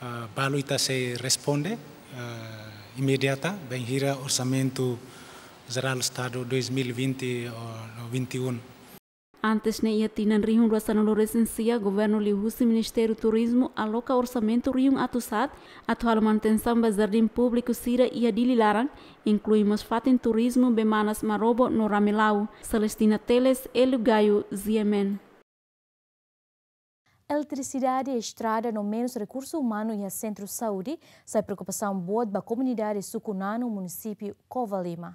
eh, balu ita sei responde, eh, imediata, bainhira orsamentu jerál Estadu dois mil e vinte ou vinte e um. Antes ne'e iha tinan rihun rua sanulu resin sia, governu liuhusi Ministériu Turizmu aloka orsamentu rihun atus haat atu halo manutensaun ba jardín públiku sira iha Dili laran, inklui mós fatin turizmu bee manas Marobo no Ramelau. Celestina Teles, Hélio Gaio, G M N. Eletrisidade, estrada no menus rekursu umanu iha sentru saúde sai preokupasaun boot ba komunidade Suku Nanu, munisípiu Covalima.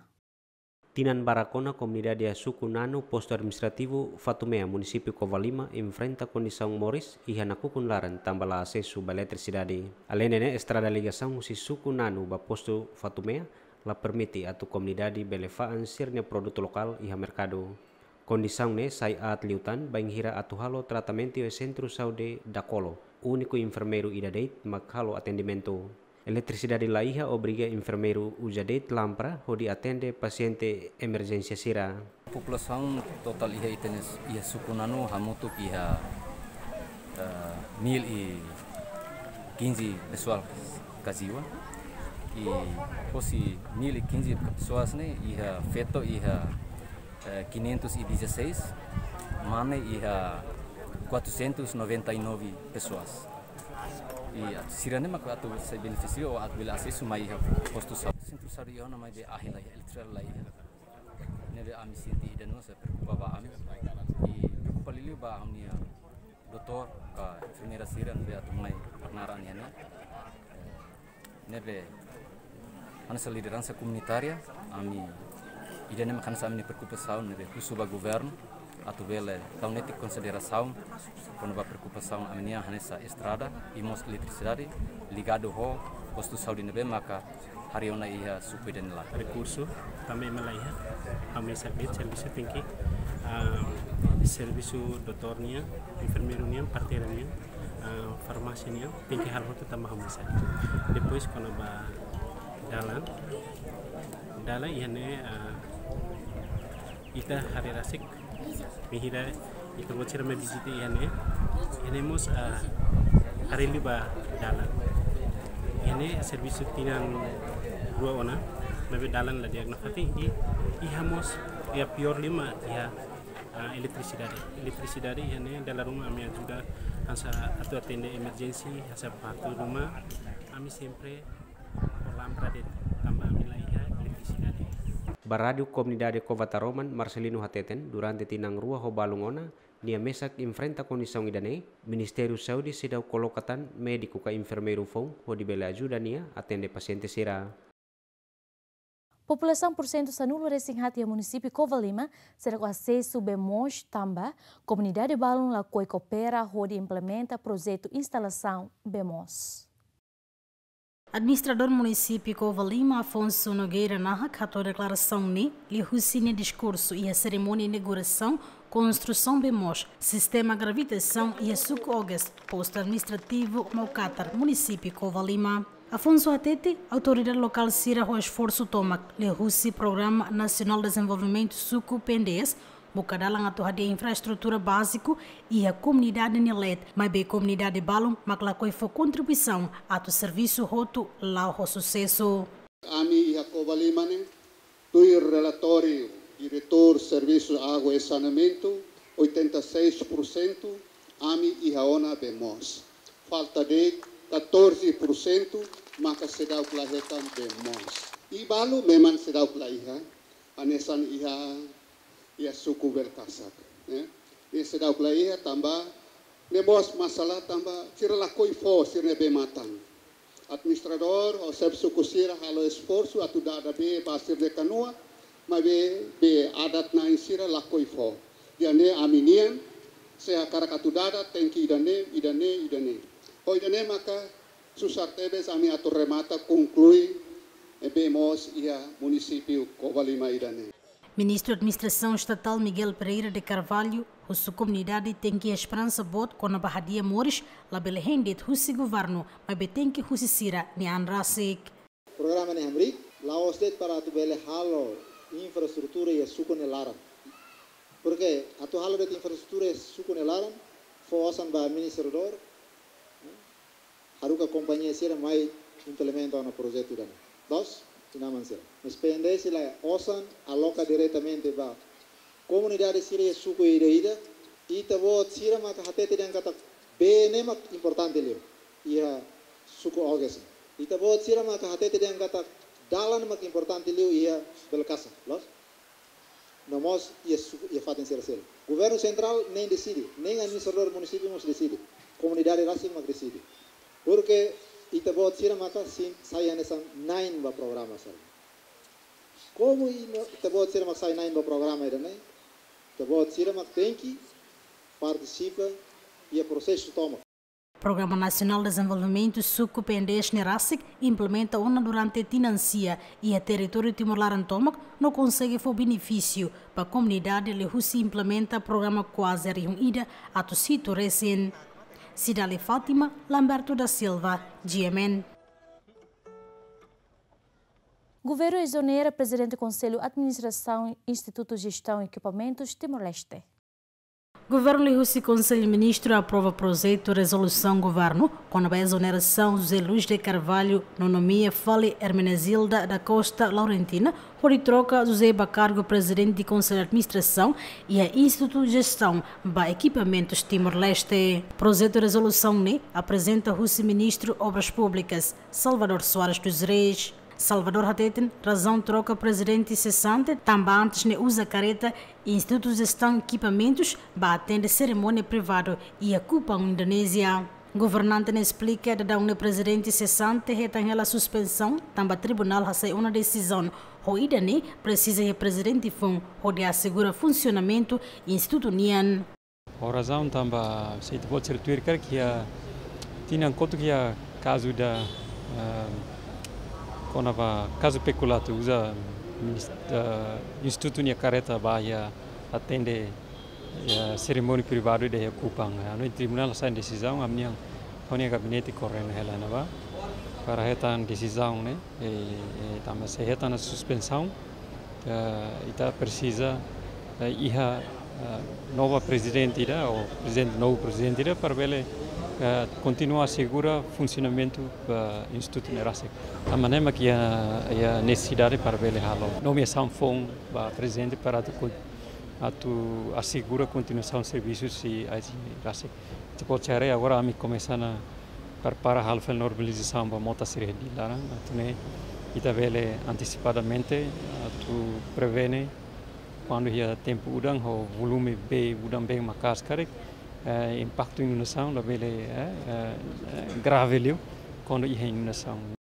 Tinan barak ona komunidade iha Suku Nanu, postu administrativu Fatumea, munisípiu Covalima, enfrenta kondisaun moris iha nakukun laran tanba la asesu ba eletrisidade. Aleinde ne'e, estrada ligasaun husi Suku Nanu ba postu Fatumea la permite atu komunidade bele fa'an sira-nia produtu lokál iha merkadu. Kondisaun ne'e sai aat liután bainhira atu halo tratamentu iha sentru saúde Dakolo, úniku enfermeiru ida de'it mak halo atendimentu. Eletrisidade la iha obriga enfermeiru uza de'it lámpara hodi atende pasiente emerjénsia sira. Populasaun totál iha ita-nia s-, iha Suku Nanu hamutuk iha, eh, mil e quinze pessoas kajiwa. I husi mil e quinze pessoas ne'e iha feto iha, eh, quinhentos e dezasseis, mane iha quatrocentos e noventa e nove pessoas. I atu sira-ne'e mak atu sei benefisia ou atu bele asesu mai iha postu saúde. Sentru saúde iha ona maibé ahi la iha, eletrisidade la iha. Ne'ebé ami sente ida no sei preokupa ba ami. I preokupa liuliu ba ami-nia doutór ka enfermeira sira ne'ebé atu mai naran iha ne'e. Eh, ne'ebé hanesan lideransa komunitária, ami ida-ne'e mak hanesan ami-nia preokupasaun ne'ebé husu ba governu atu bele tau netik konsiderasaun kona-ba preokupasaun ami-nian hanesan estrada i mós eletrisidade ligadu ho postu saúde ne'ebé maka harii ona iha suku ida-ne'e laran. Rekursu tanba ema la iha, ha'u mesak de'it servisu tenke, ah, servisu doutór nian, enfermeiru nian, parteira nian, ah, farmásia nian, tenke halo hotu tanba ha'u mesak. Depois kona-ba dalan, dalan iha ne'e, ah, ita haree rasik, bainhira ita-boot sira mai vizita iha ne'e, iha ne'e mós, ah, haree liu ba dalan. Iha ne'e servisu tinan rua ona, maibé dalan la di'ak nafatin, i iha mós, iha piór liu mak iha, ah, eletrisidade. Eletrisidade iha ne'e dala ruma ami ajuda hanesan atu atende emerjénsia, hanesan partu ruma, ami sempre ho lámpara de'it tanba ami la iha eletrisidade. Ba Rádiu Komunidade Cova Taroman, Marcelino hateten, durante tinan rua ho balun ona, nia mesak enfrenta kondisaun ida-ne'e, Ministériu Saúde seidauk koloka tan médiku ka enfermeiru foun hodi bele ajuda nia atende pasiente sira. Populasaun pursentu sanulu resin haat iha munisípiu Covalima seidauk asesu bee moos tanba komunidade balun lakohi koopera hodi implementa projetu instalasaun bee moos. Administradór munisípiu Covalima, Afonso Nogueira Nahak, hato'o deklarasaun ne'e liuhusi nia diskursu iha serimónia inaugurasaun Konstrusaun bee moos sistema gravitasaun iha suku Ogas, postu administrativu Maukatar, munisípiu Covalima. Afonso hatete, autoridade lokál sira ho esforsu tomak liuhusi Programa Nasionál Dezenvolvimentu Suku, P N D S, buka dalan atu hadi'a infraestrutura báziku iha komunidade nia leet, maibé komunidade balu mak lakohi fó kontribuisaun atu servisu hotu la'o ho susesu. Ami iha Covalima ne'e, tuir relatóriu Diretór Servisu Água e Saneamentu, oitenta e seis por cento ami iha ona bee moos. Falta de'it catorze por cento maka seidauk la hetan bee moos. I balu memang seidauk la iha, hanesan iha, iha suku Belkasak, eh. Ne'e seidauk la iha tanba ne'e mós masalah tanba sira lakohi fó sira-nia bee-matan. Administradór ho xefe suku sira halo esforsu atu dada bee ba sira-nia kanua, maibé bee adat-na'in sira lakohi fó. Ida-ne'e ami-nian, se hakarak atu dada, tenke ida-ne'e, ida-ne'e, ida-ne'e. Ho ida-ne'e maka susar tebes ami atu remata, konklui, eh, bee moos iha munisípiu Covalima ida-ne'e. Ministru Administrasaun Estatál Miguel Pereira de Carvalho, husu komunidade tenke iha esperansa boot kona-ba hadi'a moris, labele hein de'it husi governu, maibé tenke husi sira-nia an rasik. Programa ne'e hamriik, la'ós de'it para atu bele halo infraestrutura iha suku nia laran. Porke atu halo de'it infraestrutura iha suku nia laran, fó osan ba administradór, haruka kompañia sira mai implementa ona projetu ida-ne'e. Loos, inan-aman sira. Mas P N D S la osan aloka diretamente ba komunidade sira iha suku ida-ida, ita-boot sira maka hatete dehan katak bee ne'e mak importante liu iha suku Ogas. Ita-boot sira maka hatete dehan katak dalan mak importante liu iha Belkasak. Loos? No mós iha suku, iha fatin sira seluk. Governu sentrál nein deside, nein administradór munisípiu mós deside. Komunidade rasik mak deside. Porke ita-boot sira maka sin, sai hanesan na'in ba programa sira. Komu i no, ita-boot sira mak sai na'in ba programa ida-ne'e, ita-boot sira mak tenke partisipa iha prosesu tomak. Programa Nasionál Dezenvolvimentu Suku, P N D S ne'e rasik implementa ona durante tinan sia iha territóriu Timor laran tomak, no konsege fó benefísiu ba komunidade liuhusi implementa programa kuaze rihun ida atus hitu resin. Cidalia Fátima, Lamberto da Silva, G M N. Governu ezonera Prezidente Konsellu Administrasaun Institutu Jestaun Ekipamentus Timor-Leste. Governu liuhusi Konsellu Ministru aprova projetu rezolusaun governu kona-ba ezonerasaun José Luís de Carvalho no nomeia fali Hermenegilda da Costa Laurentina, hodi troka José ba kargu Prezidente Konsellu Administrasaun iha Institutu Jestaun ba Ekipamentus Timor-Leste. Projetu rezolusaun ne'e aprezenta husi Ministru Obras Públikas, Salvador Soares dos Reis. Salvador hateten razaun troka prezidente sesante tanba antes ne'e uza kareta Institutu Jestaun Ekipamentus ba atende serimónia privadu iha Kupang, Indonézia. Governante ne'e esplika daudaun ne'e prezidente sesante hetan hela suspensaun tanba tribunál hasai ona desizaun, ho ida-ne'e presiza iha prezidente foun hodi asegura funsionamentu institutu nian. Ho razaun tanba se ita-boot sira tuir karik iha tinan kotuk iha kazu ida, eh, kona-ba kazu pekulátiu uza minis-, eh, institutu nia kareta ba iha atende iha serimónia privadu ida iha Kupang. Hanoin tribunál hasai desizaun, ami-nian, ha'u-nia gabinete korrenu hela ne'ebá para hetan desizaun ne'e, eh, eh, tanba se hetan suspensaun, eh, ita presiza, eh, iha, eh, nova prezidente ida, ou prezidente, novu prezidente ida, para bele, eh, kontinua asegura funsionamentu ba institutu ne'e rasik. Tanba ne'e mak iha, iha nesesidade para bele halo nomeasaun foun ba prezidente para atu kon-, atu asegura kontinuasaun servisu sira ne'e rasik. Ita-boot sira haree agora ami komesa ona prepara halo fali normalizasaun ba mota sira iha Dili laran, atu nune'e ita bele antesipadamente atu prevene kuandu iha tempu udan ho volume bee udan-been maka'as karik, eh, impaktu inundasaun labele, eh, eh, eh, grave liu kuandu iha inundasaun.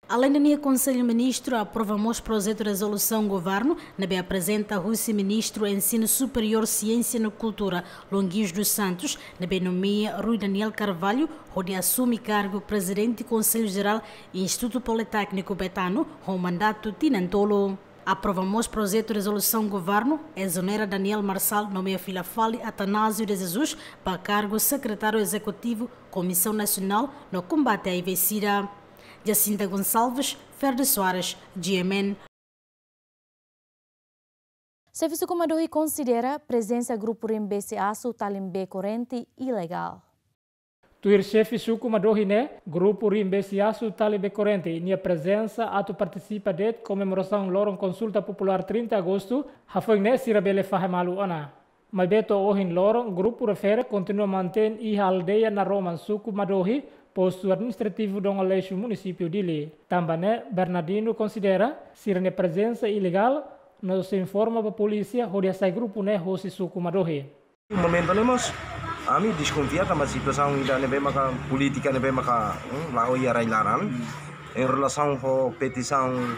Aleinde ne'e, Konsellu Ministru aprova mós projetu rezolusaun governu ne'ebé aprezenta husi Ministru Ensinu Superiór, Siénsia no Kultura, Luan Guios dos Santos, ne'ebé nomeia Rui Daniel Carvalho hodi asume kargu Prezidente Konsellu Jerál Institutu Politékniku Betano ho mandatu tinan tolu. Aprova mós projetu rezolusaun governu ezonera Daniel Marçal, nomeia fila fali Atanásio de Jesus ba kargu Sekretáriu Ezekutivu Komisaun Nasionál no Kombate à Aives-Sida. Jacinta Gonçalves, Ferdi Soares, G M N. Xefe suku Madohi konsidera prezensa grupu rimbesi asu tali bee korrente ilegál. Tuir xefe suku Madohi ne'e, grupu rimbesi asu tali bee korrente nia prezensa atu partisipa de'it komemorasaun loron konsulta populár trinta Agostu, hafoin ne'e sira bele fahe malu ona. Maibé to'o ohin loron, grupu refere kontinua mantein iha aldeia Naroman, suku Madohi, postu administrativu Dom Aleixo, munisípiu Dili. Tanba ne'e, Bernardino konsidera sira-nia prezensa ilegál no sei informa ba polísia hodi hasai grupu ne'e hosi suku Madohi. Momentu ne'e mós, ami deskonfia tanba situasaun ida ne'ebé maka polítika ne'ebé maka, hmm, la'o iha rai-laran. Em relasaun ho petisaun,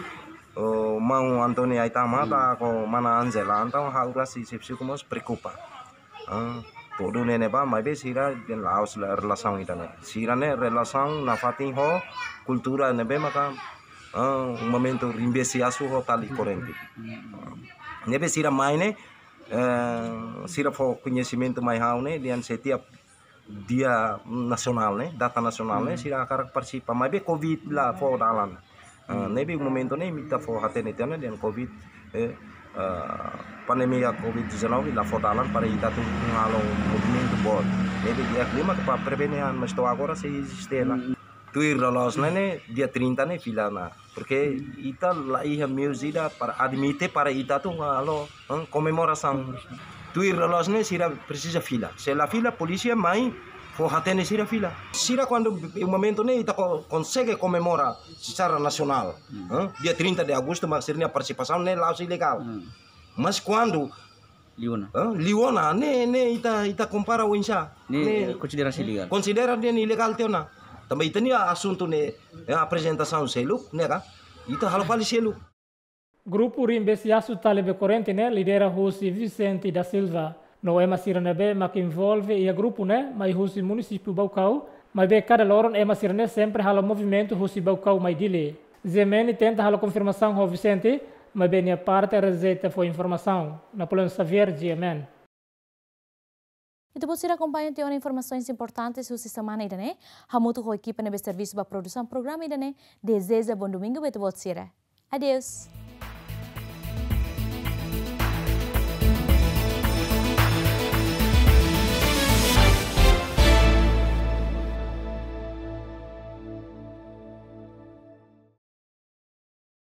oh, maun António Aitama, hmm, ka mana Angela, entaun ha'u rasa xefe suku mós preokupa. Ah, tuir ne'e ne'ebá, maibé sira dehan la'ós relasaun ida ne'e. Sira-ne'e relasaun nafatin ho kultura ne'ebé maka, ah, momentu rimbesi asu ho tali korrente. Ne'ebé sira mai ne'e, eh, sira fó koñesimentu mai ha'u ne'e, dehan setiap dia nasionál ne'e, data nasionál ne'e, hmm, sira hakarak partisipa. Maibé covid la fó dalan. Ah, hmm, ne'ebé momentu ne'e ita fó hatene tiha ona dehan covid, eh, ah, pandemia covid dezanove la fó dalan para ita atu halo movimentu boot. Ne'ebé di'ak liu mak para prevene an, mas to'o agora sei eziste ona. Hmm. Tuir loloos ne'e, ne'e, dia trinta ne'e fila ona. Porque ita la iha meius ida para admite para ita atu halo, hmm, komemorasaun. Tuir loloos ne'e sira presiza fila. Se la fila, polísia mai fó hatene sira fila. Sira kuandu momentu ne'e ita ko-, konsege komemora secara nasionál. Hmm. Hmm? Dia trinta de agostu mak sira-nia partisipasaun ne'e la'ós ilegál. Hmm. Mas kuandu liu ona. Hã? Liu ona, ne'e, ne'e ita, ita kompara oinsá. Ne'e, ne'e, eh, konsidera ilegál. Konsidera dehan ilegál tiha ona. Tanba ita-nia asuntu ne'e, eh, aprezentasaun seluk, ne'e ka? Ita halo fali seluk. Grupu rimbesi asu tali bee korrente ne'e lidera husi Vicente da Silva. No ema sira ne'ebé mak envolve iha grupu ne'e mai husi munisípiu Baucau, maibé kada loron ema sira-ne'e sempre halo movimentu husi Baucau mai Dili. G M N tenta halo konfirmasaun ho Vicente, maibé nia parte rejeita fó informasaun. Napoleão Xavier, G M N. Ita-boot sira akompaña tiha ona informasaun importante husi semana ida-ne'e. Hamutuk ho ekipa ne'ebé servisu ba produsaun programa ida-ne'e, dezeja bom domingu ba ita-boot sira. Adeus.